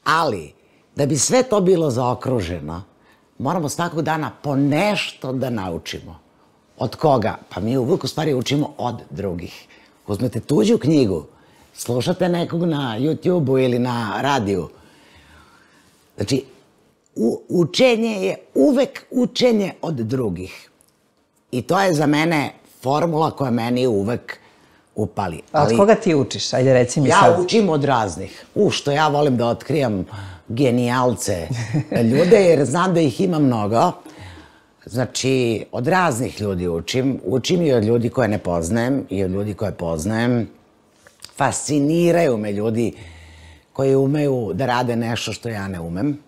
S2: Ali, da bi sve to bilo zaokruženo, moramo svakog dana po nešto da naučimo. Od koga? Pa mi uvijek u stvari učimo od drugih. Uzmete tuđu knjigu, slušate nekog na YouTube-u ili na radiju. Znači, učenje je uvek učenje od drugih. I to je za mene formula koja meni uvek upali.
S1: A od koga ti učiš? Ajde, reci mi sad.
S2: Ja učim od raznih. U, što ja volim da otkrijam genijalce ljude, jer znam da ih ima mnogo. Znači, od raznih ljudi učim. Učim i od ljudi koje ne poznajem i od ljudi koje poznajem. Fasciniraju me ljudi koji umeju da rade nešto što ja ne umem.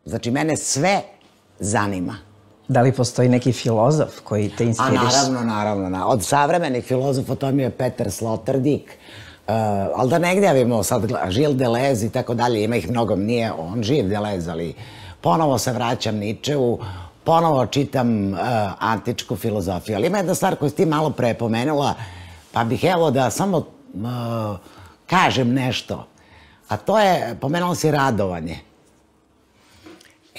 S2: Znači, mene sve zanima.
S1: Da li postoji neki filozof koji te inspiriš?
S2: A naravno, naravno. Od savremenih filozofa to mi je Peter Sloterdijk. Ali da ne gnjavimo sad, Gilles Deleuze i tako dalje, ima ih mnogo, nije on živ Deleuze, ali ponovo se vraćam Ničeu, ponovo čitam antičku filozofiju. Ali ima jedna stvar koju si ti malo pre pomenula, pa bih evo da samo kažem nešto. A to je, pomenula si radovanje.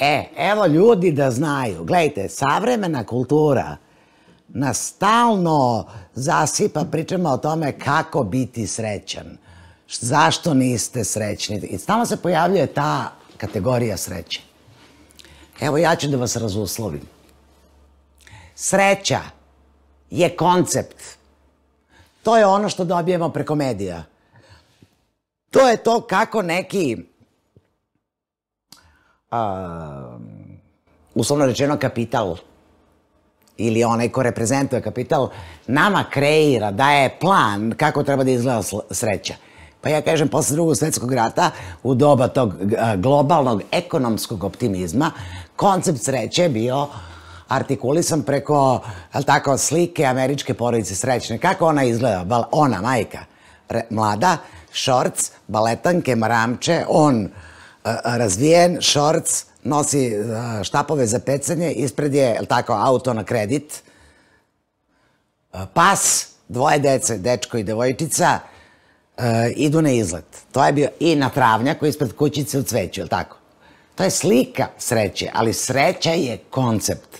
S2: E, evo ljudi da znaju, gledajte, savremena kultura nas stalno zasipa, pričamo o tome kako biti srećan, zašto niste srećni. I stalno se pojavljuje ta kategorija sreće. Evo, ja ću da vas razuslovim. Sreća je koncept. To je ono što dobijemo preko medija. To je to kako neki... uslovno rečeno kapital ili onaj ko reprezentuje kapital nama kreira, daje plan kako treba da izgleda sreća. Pa ja kažem, posle Drugog svetskog rata, u doba tog globalnog ekonomskog optimizma, koncept sreće je bio artikulisan preko, je li tako, slike američke porodice srećne. Kako ona izgleda? Ona, majka, mlada, šorc, baletanke, maramče, on razvijen, šorc, nosi štapove za pecanje, ispred je, je li tako, auto na kredit, pas, dvoje dece, dečko i devojčica, idu na izlet. To je bio i na travnjaku ispred kućice u cveću, je li tako? To je slika sreće, ali sreća je koncept.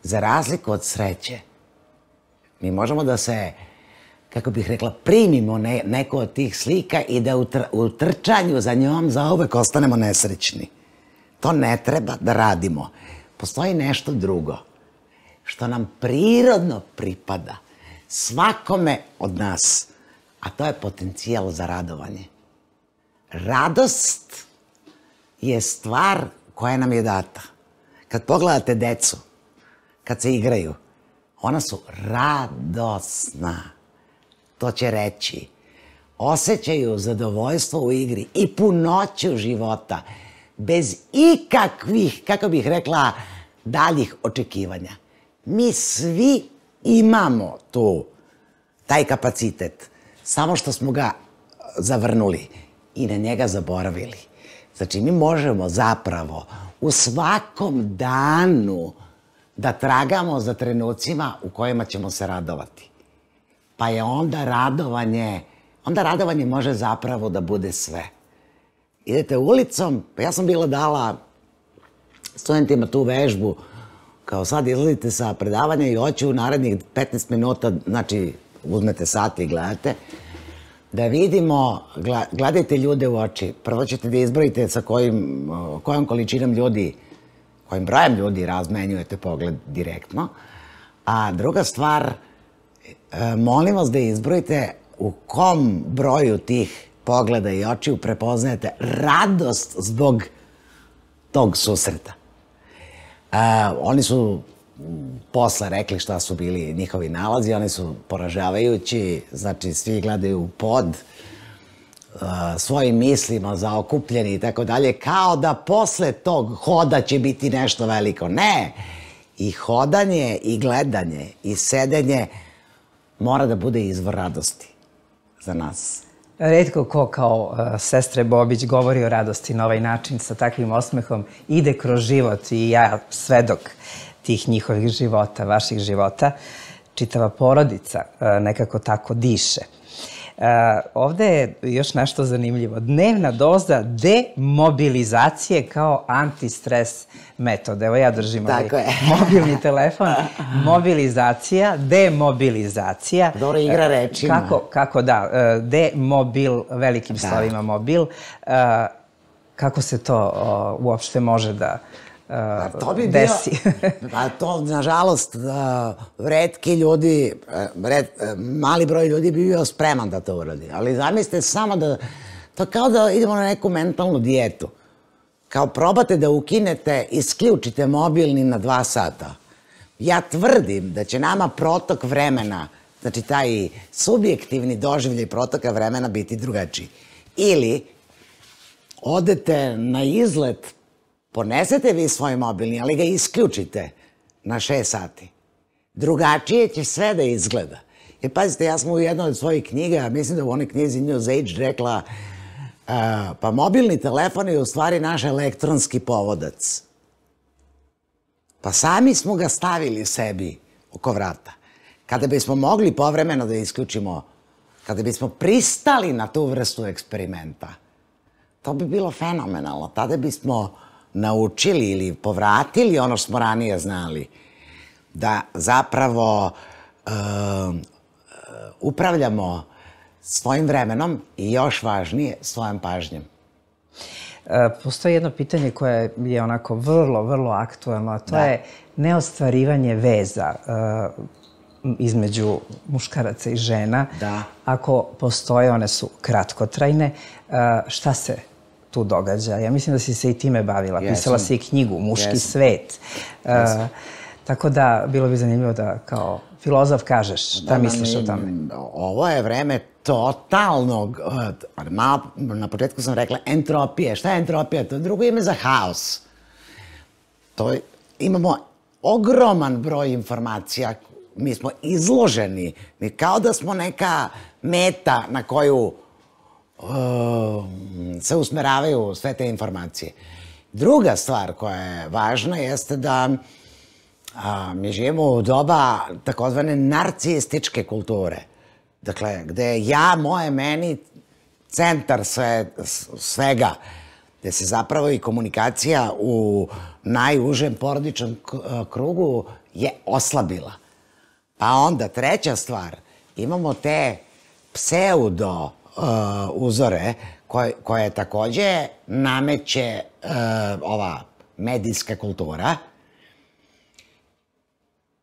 S2: Za razliku od sreće, mi možemo da se, kako bih rekla, primimo neko od tih slika i da u trčanju za njom zauvek ostanemo nesrećni. To ne treba da radimo. Postoji nešto drugo, što nam prirodno pripada, svakome od nas, a to je potencijal za radovanje. Radost je stvar koja nam je data. Kad pogledate decu, kad se igraju, ona su radosna. To će reći. Osjećaju zadovoljstvo u igri i punoću života, bez ikakvih, kako bih rekla, daljih očekivanja. Mi svi imamo tu, taj kapacitet, samo što smo ga zavrnuli i na njega zaboravili. Znači, mi možemo zapravo u svakom danu da tragamo za trenucima u kojima ćemo se radovati. Pa je onda radovanje, onda radovanje može zapravo da bude sve. Idete ulicom, pa ja sam bila dala studentima tu vežbu, kao sad izlazite sa predavanja i hoću u narednih petnaest minuta, znači uzmete sat i gledate, da vidimo, gledajte ljude u oči. Prvo ćete da izbrojite sa kojim, kojom količinom ljudi, kojim brojem ljudi razmenjujete pogled direktno. A druga stvar, molim vas da izbrojite u kom broju tih pogleda i očiju prepoznajete radost zbog tog susreta. Oni su posle rekli šta su bili njihovi nalazi, oni su poražavajući, znači svi gledaju u pod, svojim mislima zaokupljeni i tako dalje, kao da posle tog hoda će biti nešto veliko. Ne! I hodanje, i gledanje, i sedenje mora da bude izvor radosti za nas.
S1: Retko ko kao sestre Bobić govori o radosti na ovaj način, sa takvim osmehom, ide kroz život i ja svedok tih njihovih života, vaših života. Čitava porodica nekako tako diše. Ovde je još nešto zanimljivo. Dnevna doza demobilizacije kao antistres metod. Evo ja držim ovaj mobilni telefon. Mobilizacija, demobilizacija.
S2: Dobro, igra rečima.
S1: Kako da, demobil, velikim slovima mobil. Kako se to uopšte može da desi?
S2: To, nažalost, retki ljudi, mali broj ljudi bi bio spreman da to uradi. Ali zamislite samo da, to kao da idemo na neku mentalnu dijetu. Kao probate da ukinete, isključite mobilni na dva sata. Ja tvrdim da će nama protok vremena, znači taj subjektivni doživljaj protoka vremena biti drugačiji. Ili odete na izlet, ponesete vi svoj mobilni, ali ga isključite na šest sati. Drugačije će sve da izgleda. Jer pazite, ja sam u jednoj od svojih knjiga, mislim da u onoj knjizi News Age rekla, pa mobilni telefon je u stvari naš elektronski povodac. Pa sami smo ga stavili sebi oko vrata. Kada bismo mogli povremeno da isključimo, kada bismo pristali na tu vrstu eksperimenta, to bi bilo fenomenalno. Tada bismo naučili ili povratili ono što smo ranije znali, da zapravo upravljamo svojim vremenom i još važnije svojom pažnjom.
S1: Postoji jedno pitanje koje je onako vrlo, vrlo aktuelno, a to je neostvarivanje veza između muškaraca i žena. Ako postoje, one su kratkotrajne. Šta se tu događa? Ja mislim da si se i time bavila. Pisala si i knjigu Muški svet. Tako da, bilo bi zanimljivo da kao filozof kažeš šta misliš o tome.
S2: Ovo je vreme totalnog, na početku sam rekla entropije. Šta je entropija? To je drugo ime za haos. Imamo ogroman broj informacija, mi smo izloženi, mi kao da smo neka meta na koju se usmeravaju sve te informacije. Druga stvar koja je važna jeste da mi živimo u doba takozvane narcističke kulture. Dakle, gde je ja, moje, meni centar svega, gde se zapravo i komunikacija u najužem porodičnom krugu je oslabila. Pa onda, treća stvar, imamo te pseudo uzore koje takođe nameće ova medijska kultura.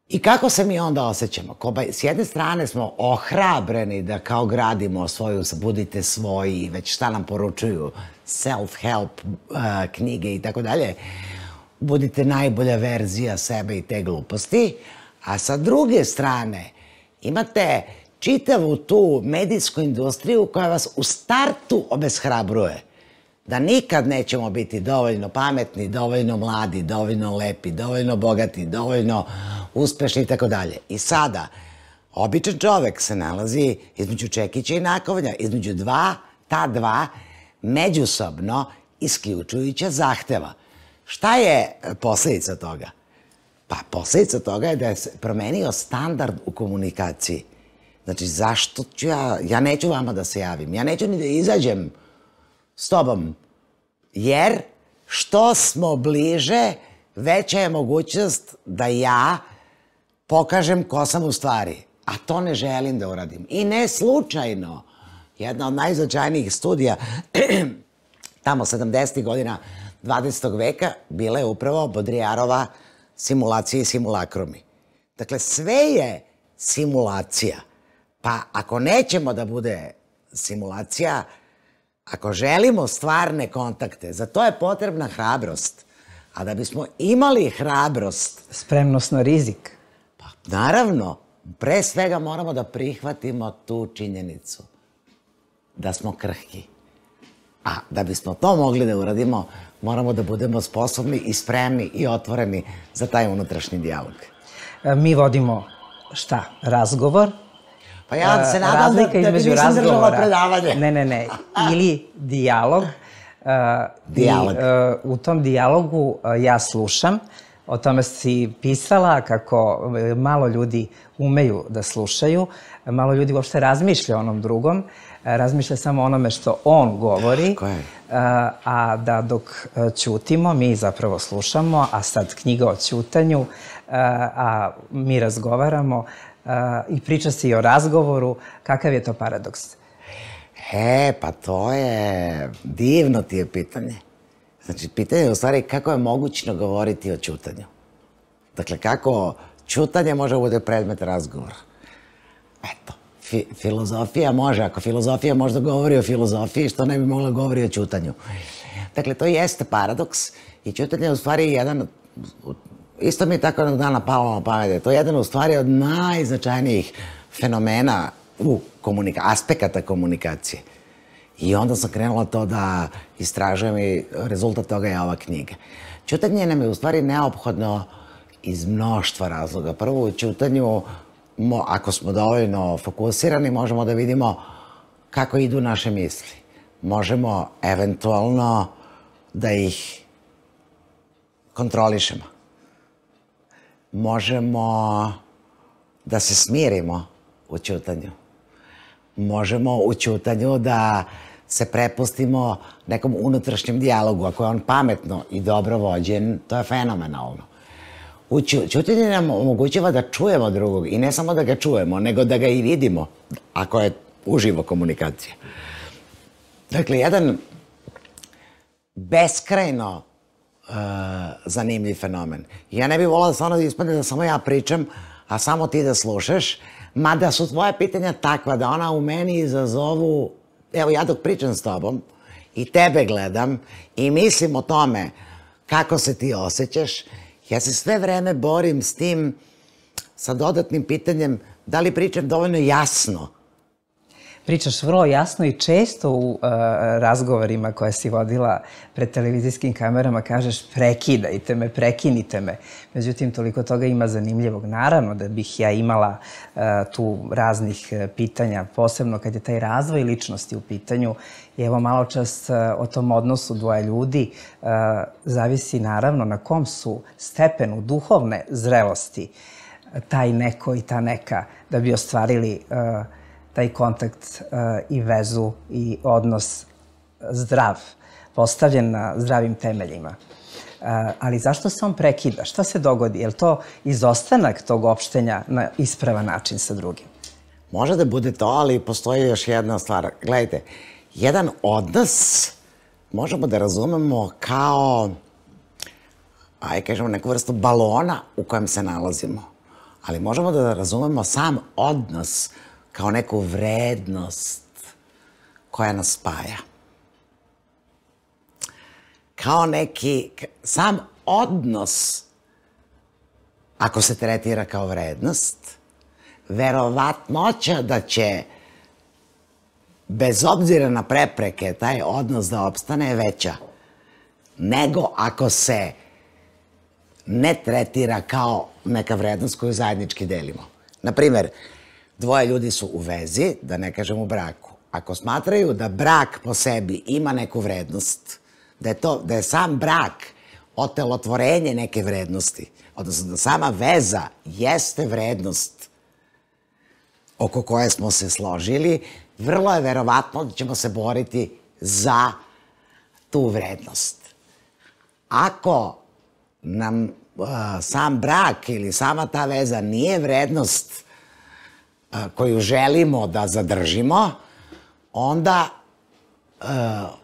S2: I kako se mi onda osjećamo? S jedne strane smo ohrabreni da kao gradimo svoju, budite svoji, već šta nam poručuju, self-help knjige i tako dalje. Budite najbolja verzija sebe i te gluposti. A sa druge strane imate čitavu tu medijsku industriju koja vas u startu obeshrabruje. Da nikad nećemo biti dovoljno pametni, dovoljno mladi, dovoljno lepi, dovoljno bogati, dovoljno uspešni i tako dalje. I sada, običan čovek se nalazi između čekića i nakovnja, između dva, ta dva, međusobno isključujuća zahteva. Šta je posledica toga? Pa posledica toga je da se promenio standard u komunikaciji. Znači, zašto ću ja, ja neću vama da se javim, ja neću ni da izađem s tobom, jer što smo bliže, veća je mogućnost da ja pokažem ko sam u stvari, a to ne želim da uradim. I ne slučajno, jedna od najznačajnijih studija, tamo sedamdesetih godina dvadesetog veka, bila je upravo Baudrillardova simulacija i simulakrumi. Dakle, sve je simulacija. Pa ako nećemo da bude simulacija, ako želimo stvarne kontakte, za to je potrebna hrabrost. A da bismo imali hrabrost...
S1: Spremnost na rizik.
S2: Pa, naravno, pre svega moramo da prihvatimo tu činjenicu da smo krhki. A da bismo to mogli da uradimo, moramo da budemo sposobni i spremni i otvoreni za taj unutrašnji dijalog.
S1: Mi vodimo šta? Razgovor?
S2: Pa ja se nadam da ti nisam držala predavanje.
S1: Ne, ne, ne. Ili dijalog.
S2: Dijalog.
S1: U tom dijalogu ja slušam. O tome si pisala kako malo ljudi umeju da slušaju, malo ljudi uopšte razmišlja o onom drugom, razmišlja samo o onome što on govori, a da dok ćutimo, mi zapravo slušamo, a sad knjiga o ćutanju, a mi razgovaramo i priča se i o razgovoru. Kakav je to paradoks?
S2: E, pa to je... divno ti je pitanje. Znači, pitanje je u stvari kako je mogućno govoriti o ćutanju. Dakle, kako ćutanje može bude predmet razgovora. Eto, filozofija može, ako filozofija možda govori o filozofiji, što ne bi mogla govori o ćutanju. Dakle, to jeste paradoks i ćutanje je u stvari jedan, isto mi je tako jednog dana palo na pamet, to je jedan u stvari od najznačajnijih fenomena u aspekata komunikacije. I onda sam krenula to da istražujem i rezultat toga je ova knjiga. Ćutanje nam je u stvari neophodno iz mnoštva razloga. Prvo, u ćutanju, ako smo dovoljno fokusirani, možemo da vidimo kako idu naše misli. Možemo eventualno da ih kontrolišemo. Možemo da se smirimo u ćutanju. Možemo u ćutanju da se prepustimo nekom unutrašnjem dijalogu. Ako je on pametno i dobro vođen, to je fenomenalno. Ćutanje nam omogućava da čujemo drugog i ne samo da ga čujemo, nego da ga i vidimo, ako je uživo komunikacija. Dakle, jedan beskrajno zanimljiv fenomen. Ja ne bih volila da stvarno ispadne da samo ja pričam, a samo ti da slušaš, mada su tvoje pitanja takva da ona u meni izazovu, evo ja dok pričam s tobom i tebe gledam i mislim o tome kako se ti osjećaš, ja se sve vreme borim s tim, sa dodatnim pitanjem da li pričam dovoljno jasno.
S1: Pričaš vrlo jasno i često u razgovorima koje si vodila pred televizijskim kamerama kažeš prekidajte me, prekinite me. Međutim, toliko toga ima zanimljivog. Naravno da bih ja imala tu raznih pitanja, posebno kad je taj razvoj ličnosti u pitanju. I evo malo čas o tom odnosu dvoje ljudi zavisi naravno na kom su stepenu duhovne zrelosti taj neko i ta neka da bi ostvarili taj kontakt i vezu i odnos zdrav, postavljen na zdravim temeljima. Ali zašto se on prekida? Šta se dogodi? Je li to izostanak tog opštenja na ispravan način sa drugim?
S2: Može da bude to, ali postoji još jedna stvar. Gledajte, jedan odnos možemo da razumemo kao, aj kažemo, neku vrstu balona u kojem se nalazimo. Ali možemo da razumemo sam odnos kao neku vrednost koja nas spaja. Kao neki, sam odnos, ako se tretira kao vrednost, verovatnoća da će, bez obzira na prepreke, taj odnos da opstane je veća nego ako se ne tretira kao neka vrednost koju zajednički delimo. Naprimer, dvoje ljudi su u vezi, da ne kažem u braku. Ako smatraju da brak po sebi ima neku vrednost, da je, to, da je sam brak otelotvorenje neke vrednosti, odnosno da sama veza jeste vrednost oko koje smo se složili, vrlo je verovatno da ćemo se boriti za tu vrednost. Ako nam uh, sam brak ili sama ta veza nije vrednost uh, koju želimo da zadržimo, onda, uh,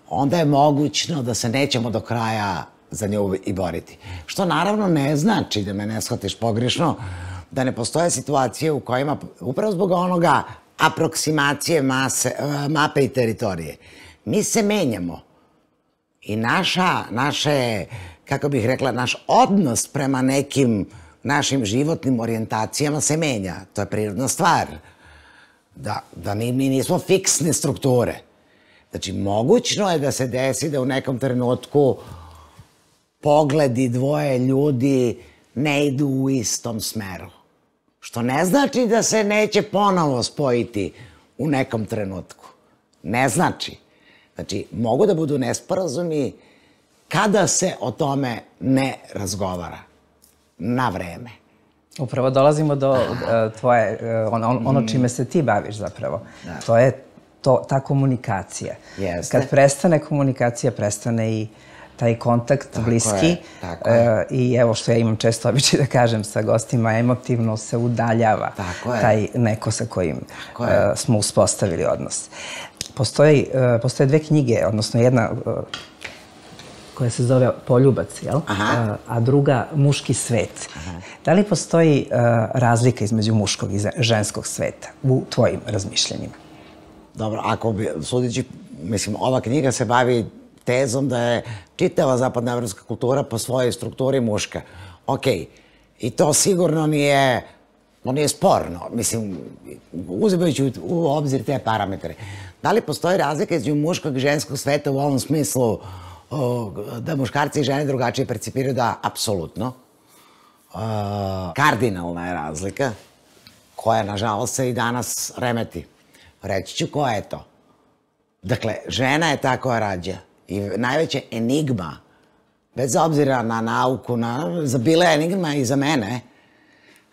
S2: onda je mogućno da se nećemo do kraja za nju i boriti. Što naravno ne znači, da me ne shvatiš pogrešno, da ne postoje situacije u kojima, upravo zbog onoga aproksimacije mase, mape i teritorije, mi se menjamo. I naša, naše, kako bih rekla, naš odnos prema nekim našim životnim orijentacijama se menja. To je prirodna stvar. Da, da mi, mi nismo fiksne strukture. Znači, mogućno je da se desi da u nekom trenutku pogledi dvoje ljudi ne idu u istom smeru. Što ne znači da se neće ponovo spojiti u nekom trenutku. Ne znači. Znači, mogu da budu nesporazumi kada se o tome ne razgovara. Na vreme.
S1: Upravo dolazimo do tvoje, ono čime se ti baviš zapravo. To je ta komunikacija. Kad prestane komunikacija, prestane i taj kontakt bliski. I evo što ja imam često običaj da kažem sa gostima, emotivno se udaljava taj neko sa kojim smo uspostavili odnos. Postoje dve knjige, odnosno jedna koja se zove Poljubac, jel? A druga Muški svet. Da li postoji razlika između muškog i ženskog sveta u tvojim razmišljanjima?
S2: Dobro, ako bi, sudići, mislim, ova knjiga se bavi tezom da je čitava zapadnoevropska kultura po svojoj strukturi muška. Okej, i to sigurno nije, no nije sporno, mislim, uzimajući u obzir te parametre. Da li postoji razlika između muškog i ženskog sveta u ovom smislu da muškarci i žene drugačije percipiraju? Da, apsolutno. Kardinalna je razlika, koja, nažalost, se i danas remeti. Reći ću koja je to. Dakle, žena je ta koja rađa. I najveća enigma, bez obzira na nauku, bila je enigma i za mene,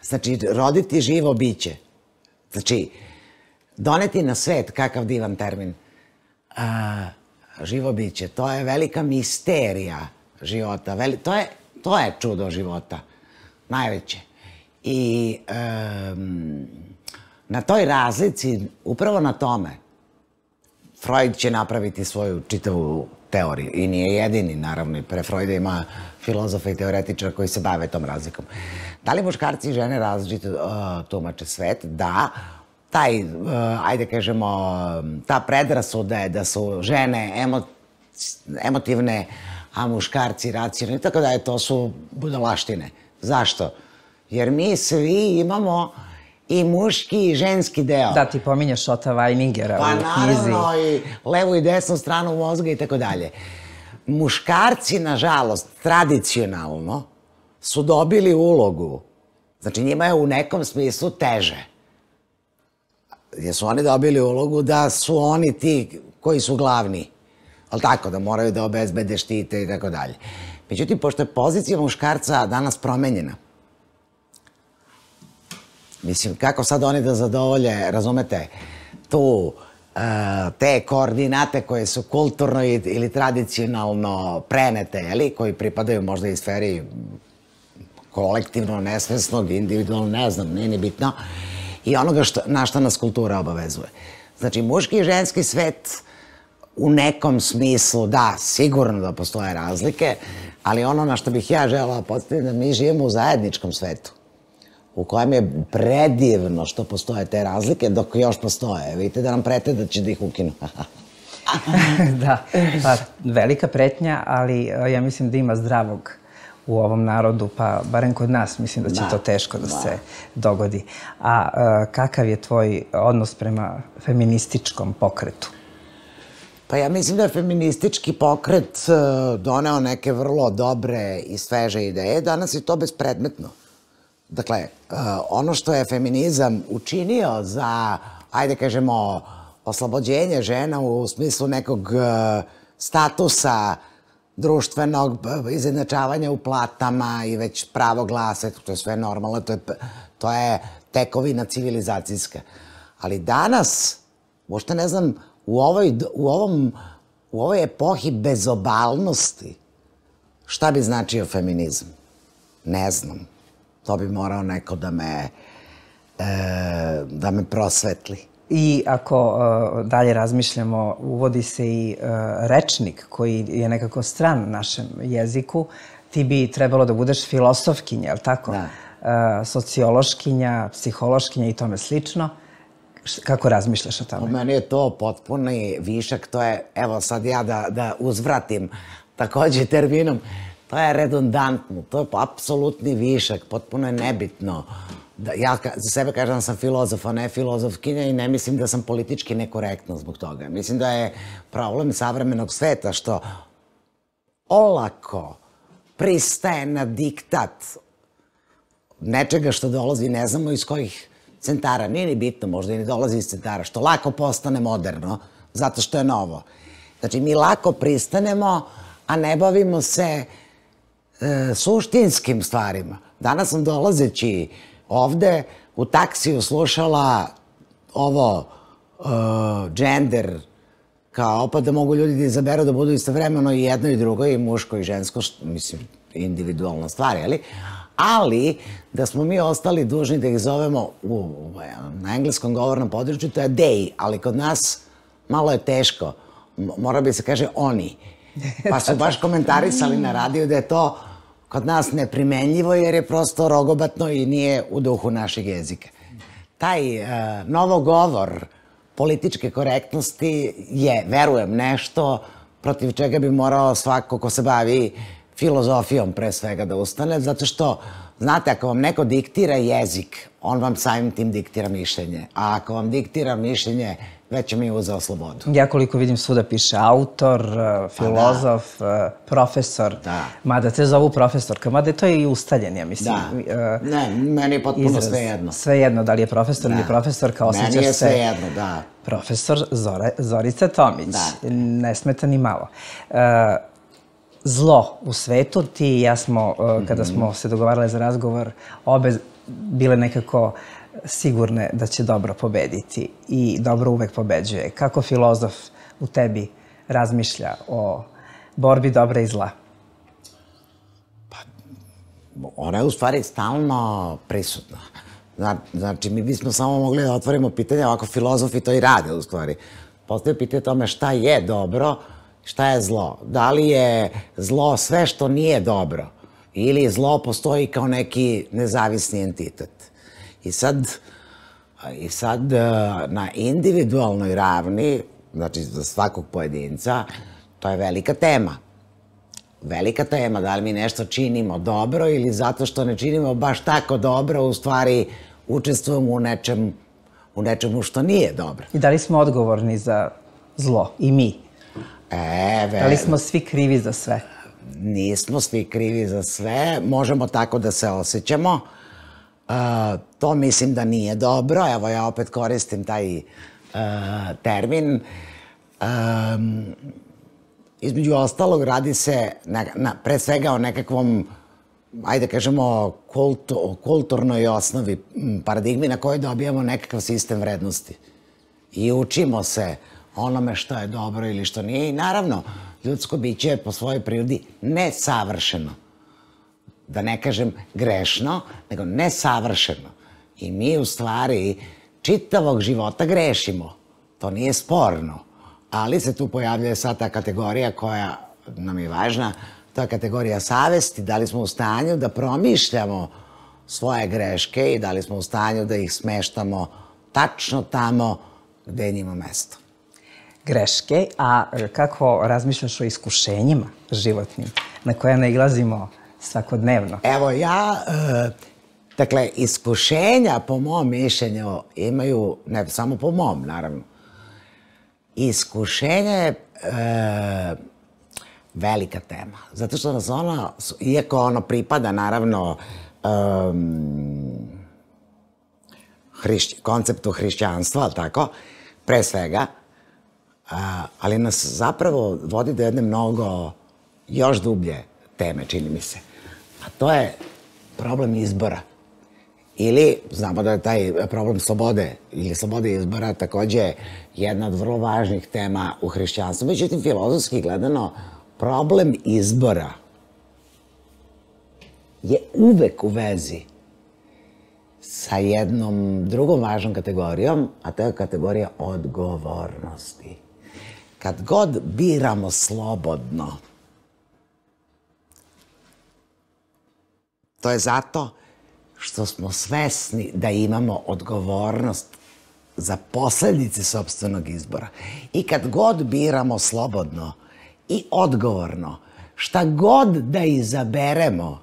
S2: znači, roditi živo biće. Znači, doneti na svet, kakav divan termin, živo biće, to je velika misterija života, to je čudo života, najveće. I na toj razlici, upravo na tome, Freud će napraviti svoju čitavu teoriju i nije jedini, naravno, i pre Freuda ima filozofa i teoretičara koji se bave tom razlikom. Da li muškarci i žene različito tumače svet? Da. Taj, ajde kažemo, ta predrasuda je da su žene emotivne, a muškarci racionalni, tako da je to su budalaštine. Zašto? Jer mi svi imamo i muški i ženski deo.
S1: Da, ti pominješ Ota Vajningera u knjizi.
S2: Pa naravno, i levu i desnu stranu mozga i tako dalje. Muškarci, nažalost, tradicionalno su dobili ulogu. Znači, njima je u nekom smislu teže. Jer su oni dobili ulogu da su oni ti koji su glavni. Ali tako, da moraju da obezbede štite i tako dalje. Međutim, pošto je pozicija muškarca danas promenjena, mislim, kako sad oni da zadovolje, razumete, tu, te koordinate koje su kulturno ili tradicionalno prenete, jeli, koji pripadaju možda i sferi kolektivno nesvesnog, individualno, ne znam, nije ni bitno, i onoga na što nas kultura obavezuje. Znači, muški i ženski svet u nekom smislu, da, sigurno da postoje razlike, ali ono na što bih ja želala postaviti da mi živimo u zajedničkom svetu, u kojem je predivno što postoje te razlike, dok još postoje. Vidite da nam prete da će da ih ukinu.
S1: Da, pa velika pretnja, ali ja mislim da ima zdravog u ovom narodu, pa barem kod nas mislim da će to teško da se dogodi. A kakav je tvoj odnos prema feminističkom pokretu?
S2: Pa ja mislim da je feministički pokret doneo neke vrlo dobre i sveže ideje. Danas je to bespredmetno. Dakle, ono što je feminizam učinio za, ajde kažemo, oslobođenje žena u smislu nekog statusa društvenog, izjednačavanja u platama i već pravo glasa, to je sve normalno, to je tekovina civilizacijska. Ali danas, možda ne znam, u ovoj epohi bezobalnosti, šta bi značio feminizam? Ne znam. To bi morao neko da me, da me prosvetli.
S1: I ako dalje razmišljamo, uvodi se i rečnik koji je nekako stran našem jeziku, ti bi trebalo da budeš filosofkinja, je li tako? Da. Sociološkinja, psihološkinja i tome slično. Kako razmišljaš o tome?
S2: U meni je to potpuni višak, to je, evo sad ja da uzvratim takođe terminom, To je redundantno, to je apsolutni višak, potpuno je nebitno. Ja za sebe kažem da sam filozof, a ne filozofkinja i ne mislim da sam politički nekorektna zbog toga. Mislim da je problem savremenog sveta što olako pristaje na diktat nečega što dolazi, ne znamo iz kojih centara, nije ni bitno, možda i ne dolazi iz centara, što lako postane moderno, zato što je novo. Znači, mi lako pristanemo, a ne bavimo se e, suštinskim stvarima. Danas sam dolazeći ovde u taksiju slušala ovo uh, gender, kao pa da mogu ljudi da izaberu da budu istovremeno i jedno i drugo, i muško i žensko, što, mislim, individualna stvar, jeli? Ali da smo mi ostali dužni da ih zovemo u, na engleskom govornom području, to je they, ali kod nas malo je teško, mora bi se kaže oni. Pa su baš komentarisali na radiju da je to kod nas neprimenljivo jer je prosto rogobatno i nije u duhu našeg jezika. Taj uh, novogovor političke korektnosti je, verujem, nešto protiv čega bi morao svako ko se bavi filozofijom pre svega da ustane, zato što, znate, ako vam neko diktira jezik, on vam samim tim diktira mišljenje, a ako vam diktira mišljenje, već mi je uzeo slobodu.
S1: Ja koliko vidim svuda piše autor, filozof, profesor, mada te zovu profesorka, mada je to i ustaljen, ja mislim.
S2: Da, ne, meni je potpuno svejedno.
S1: Svejedno, da li je profesor ili profesorka, osjećaš se...
S2: Meni je svejedno, da.
S1: Profesor Zorica Tomić, ne smeta ni malo. Zlo u svetu, ti i ja smo, kada smo se dogovarale za razgovor, obe bile nekako sigurne da će dobro pobediti i dobro uvek pobeđuje. Kako filozof u tebi razmišlja o borbi dobra i zla?
S2: Pa, ona je u stvari stalno prisutna. Znači, mi bismo samo mogli da otvorimo pitanje, ovako filozofi to i rade u stvari. Postoje pitanje tome šta je dobro, šta je zlo. Da li je zlo sve što nije dobro ili zlo postoji kao neki nezavisni entitet. I sad, i sad na individualnoj ravni, znači za svakog pojedinca, to je velika tema. Velika tema, da li mi nešto činimo dobro ili zato što ne činimo baš tako dobro, u stvari učestvujemo u nečem, u nečemu što nije dobro.
S1: I da li smo odgovorni za zlo? I mi?
S2: E,
S1: da li smo svi krivi za sve?
S2: Nismo svi krivi za sve, možemo tako da se osjećamo. Uh, to mislim da nije dobro, evo ja opet koristim taj uh, termin. Um, između ostalog radi se na, na, pre svega o nekakvom, ajde kažemo, kultu, kulturnoj osnovi, paradigmi na kojoj dobijamo nekakav sistem vrednosti. I učimo se onome što je dobro ili što nije. I naravno, ljudsko biće je po svojoj prirodi nesavršeno. Da ne kažem grešno, nego nesavršeno. I mi u stvari čitavog života grešimo. To nije sporno. Ali se tu pojavljuje sad ta kategorija koja nam je važna, to je kategorija savesti, da li smo u stanju da promišljamo svoje greške i da li smo u stanju da ih smeštamo tačno tamo gde je njima mesto.
S1: Greške, a kako razmišljaš o iskušenjima životnim na koje nailazimo svakodnevno?
S2: Evo ja, e, dakle, iskušenja po mom mišljenju imaju, ne samo po mom, naravno, iskušenje je e, velika tema. Zato što nas ono, iako ono pripada, naravno, um, hrišć, konceptu hrišćanstva, ali tako, pre svega, a, ali nas zapravo vodi do jedne mnogo još dublje teme, čini mi se. A to je problem izbora. Ili, znamo da je taj problem slobode ili slobode izbora takođe jedna od vrlo važnih tema u hrišćanstvu. Međutim, filozofski gledano, problem izbora je uvek u vezi sa jednom drugom važnom kategorijom, a to je kategorija odgovornosti. Kad god biramo slobodno, to je zato što smo svesni da imamo odgovornost za posledice sopstvenog izbora. I kad god biramo slobodno i odgovorno, šta god da izaberemo,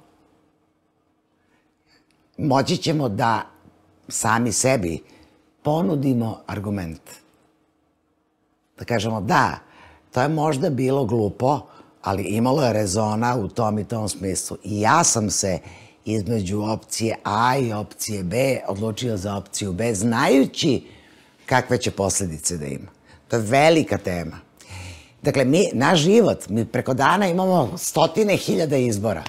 S2: moći ćemo da sami sebi ponudimo argument. Da kažemo da, to je možda bilo glupo, ali imalo je rezona u tom i tom smislu. I ja sam se između opcije A i opcije B odlučio za opciju B, znajući kakve će posledice da ima. To je velika tema. Dakle, mi, naš život, mi preko dana imamo stotine hiljada izbora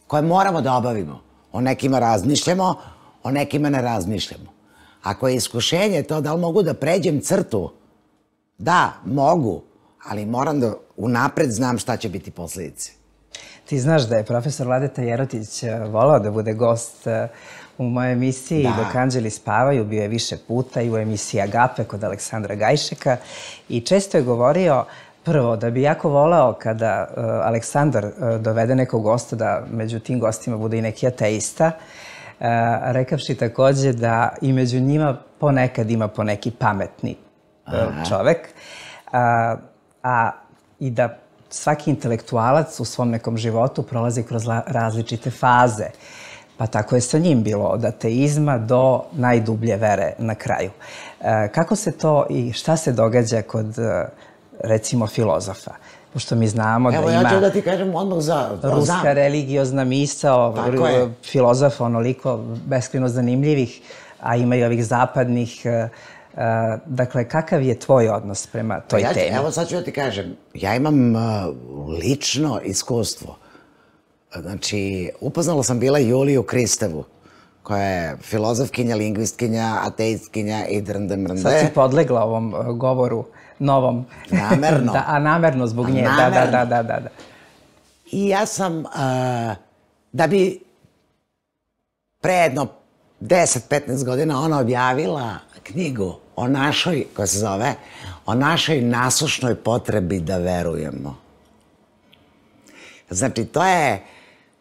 S2: koje moramo da obavimo. O nekima razmišljamo, o nekima ne razmišljamo. Ako je iskušenje to da li mogu da pređem crtu, da, mogu, ali moram da unapred znam šta će biti posledice.
S1: Ti znaš da je profesor Vladeta Jerotić volao da bude gost u mojoj emisiji Dok anđeli spavaju, bio je više puta i u emisiji Agape kod Aleksandra Gajšeka i često je govorio prvo da bi jako voleo kada Aleksandar dovede nekog gosta da među tim gostima bude i neki ateista, rekavši takođe da i među njima ponekad ima poneki pametni čovek, a i da svaki intelektualac u svom nekom životu prolazi kroz različite faze. Pa tako je sa njim bilo, od ateizma do najdublje vere na kraju. Kako se to i šta se događa kod, recimo, filozofa? Pošto mi znamo da ima...
S2: Evo, ja ću da ti kažem odmah za...
S1: Ruska religiozna misao, filozofa onoliko beskrajno zanimljivih, a ima i ovih zapadnih. Dakle, kakav je tvoj odnos prema toj temi?
S2: Evo, sad ću da ti kažem. Ja imam lično iskustvo. Znači, upoznala sam bila Juliju Kristevu, koja je filozofkinja, lingvistkinja, ateistkinja i drnde mrnde.
S1: Sad si podlegla ovom govoru novom.
S2: Namerno.
S1: A namerno zbog nje, da, da, da, da.
S2: I ja sam, da bi pre jedno deset do petnaest godina ona objavila knjigu o našoj, koja se zove, o našoj nasušnoj potrebi da verujemo. Znači, to je,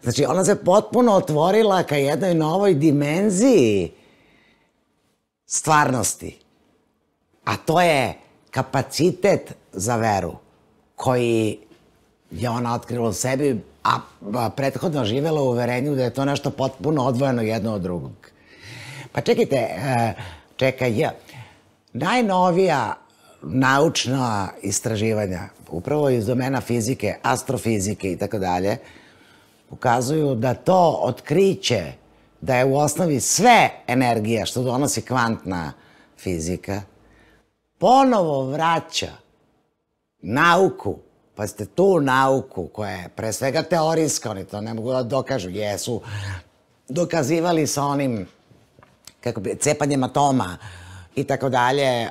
S2: znači, ona se potpuno otvorila ka jednoj novoj dimenziji stvarnosti. A to je kapacitet za veru, koji je ona otkrila u sebi, a prethodno živela u uverenju da je to nešto potpuno odvojeno jedno od drugog. Pa čekajte, čekaj, najnovija naučna istraživanja, upravo iz domena fizike, astrofizike i tako dalje, ukazuju da to otkriće da je u osnovi sve energija što donosi kvantna fizika, ponovo vraća nauku, pa ste tu nauku koja je pre svega teorijska, oni to ne mogu da dokažu, jesu dokazivali sa onim kako bi, cepanjem atoma i tako dalje,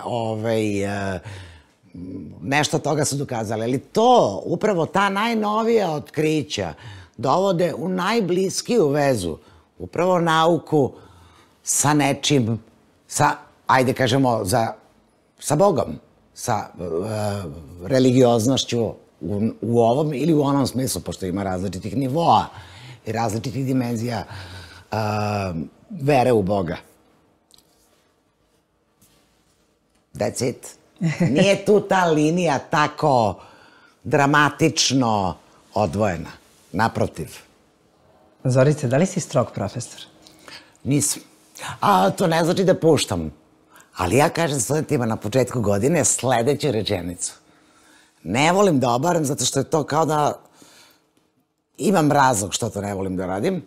S2: nešto toga su dokazali. Ali to, upravo ta najnovija otkrića dovode u najbliskiju vezu upravo nauku sa nečim, sa, ajde kažemo, sa Bogom, sa religioznošću u ovom ili u onom smislu, pošto ima različitih nivoa i različitih dimenzija vere u Boga. That's it. Nije tu ta linija tako dramatično odvojena. Naprotiv.
S1: Zorice, da li si strog profesor?
S2: Nisam. A to ne znači da puštam. Ali ja kažem studentima na početku godine sledeću rečenicu. Ne volim da obaram zato što je to kao da imam razlog što to ne volim da radim,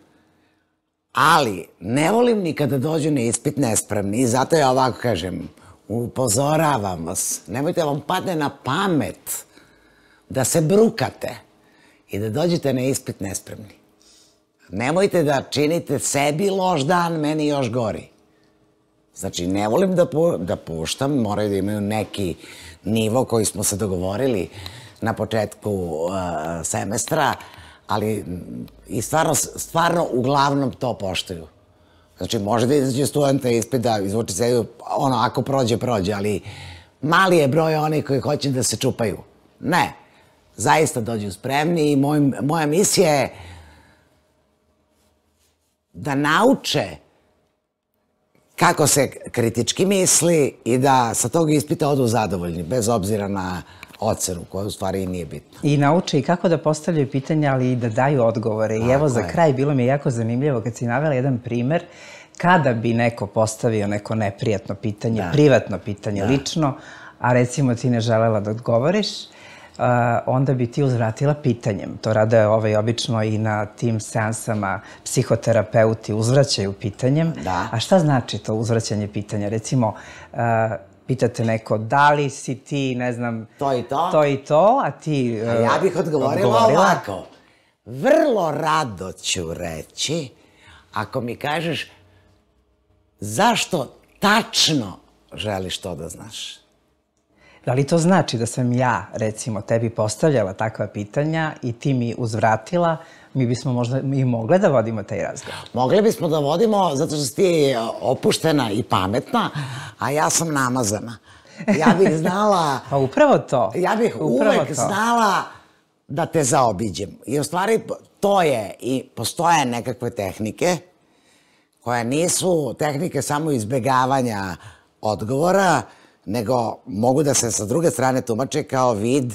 S2: ali ne volim ni kada dođu na ispit nespremni i zato ja ovako kažem, upozoravam vas, nemojte da vam padne na pamet da se brukate i da dođete na ispit nespremni. Nemojte da činite sebi loš dan, meni još gori. Znači, ne volim da puštam, moraju da imaju neki nivo koji smo se dogovorili na početku semestra, ali i stvarno uglavnom to poštuju. Znači, može da izađe studenta ispit da izvuči se, ono, ako prođe, prođe, ali mali je broj onih koji hoće da se čupaju. Ne, zaista dođu spremni i moja misija je da nauče kako se kritički misli i da sa tog ispita odu zadovoljni, bez obzira na ocenu, koja u stvari i nije bitna.
S1: I nauče i kako da postavljaju pitanja, ali i da daju odgovore. I evo za kraj, bilo mi je jako zanimljivo kad si navela jedan primer, kada bi neko postavio neko neprijatno pitanje, privatno pitanje, lično, a recimo ti ne želela da odgovoriš, onda bi ti uzvratila pitanjem. To rade ovaj, obično i na tim seansama psihoterapeuti uzvraćaju pitanjem. A šta znači to uzvraćanje pitanja? Recimo, pitate neko da li si ti, ne znam,
S2: to i to,
S1: to, i to a ti
S2: a ja bih odgovorila ovako. Vrlo rado ću reći, ako mi kažeš zašto tačno želiš to da znaš.
S1: Da li to znači da sam ja, recimo, tebi postavljala takva pitanja i ti mi uzvratila, mi bismo možda i mogle da vodimo taj razgovor?
S2: Mogli bismo da vodimo, zato što si ti opuštena i pametna, a ja sam namazana. Ja bih znala...
S1: Pa upravo to.
S2: Ja bih uvek znala da te zaobiđem. I u stvari to je, i postoje nekakve tehnike koje nisu tehnike samo izbegavanja odgovora, nego mogu da se sa druge strane tumače kao vid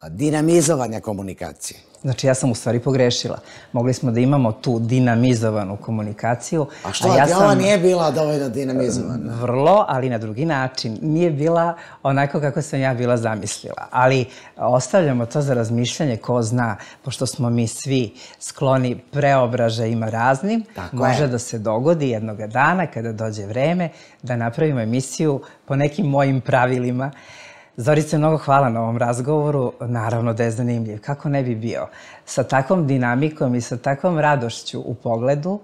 S2: dinamizovanja komunikacije.
S1: Znači, ja sam u stvari pogrešila. Mogli smo da imamo tu dinamizovanu komunikaciju.
S2: A što, ti ova nije bila dovoljno dinamizovana?
S1: Vrlo, ali na drugi način. Nije bila onako kako sam ja bila zamislila. Ali ostavljamo to za razmišljanje, ko zna, pošto smo mi svi skloni preobražajima raznim, može da se dogodi jednoga dana, kada dođe vreme, da napravimo emisiju po nekim mojim pravilima. Zorice, mnogo hvala na ovom razgovoru. Naravno da je zanimljiv. Kako ne bi bio? Sa takvom dinamikom i sa takvom radošću u pogledu,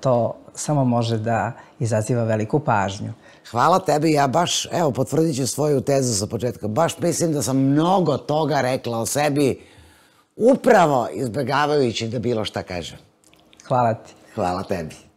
S1: to samo može da izaziva veliku pažnju.
S2: Hvala tebi. Ja baš, evo, potvrdit ću svoju tezu sa početka. Baš mislim da sam mnogo toga rekla o sebi, upravo izbegavajući da bilo šta kažem.
S1: Hvala ti.
S2: Hvala tebi.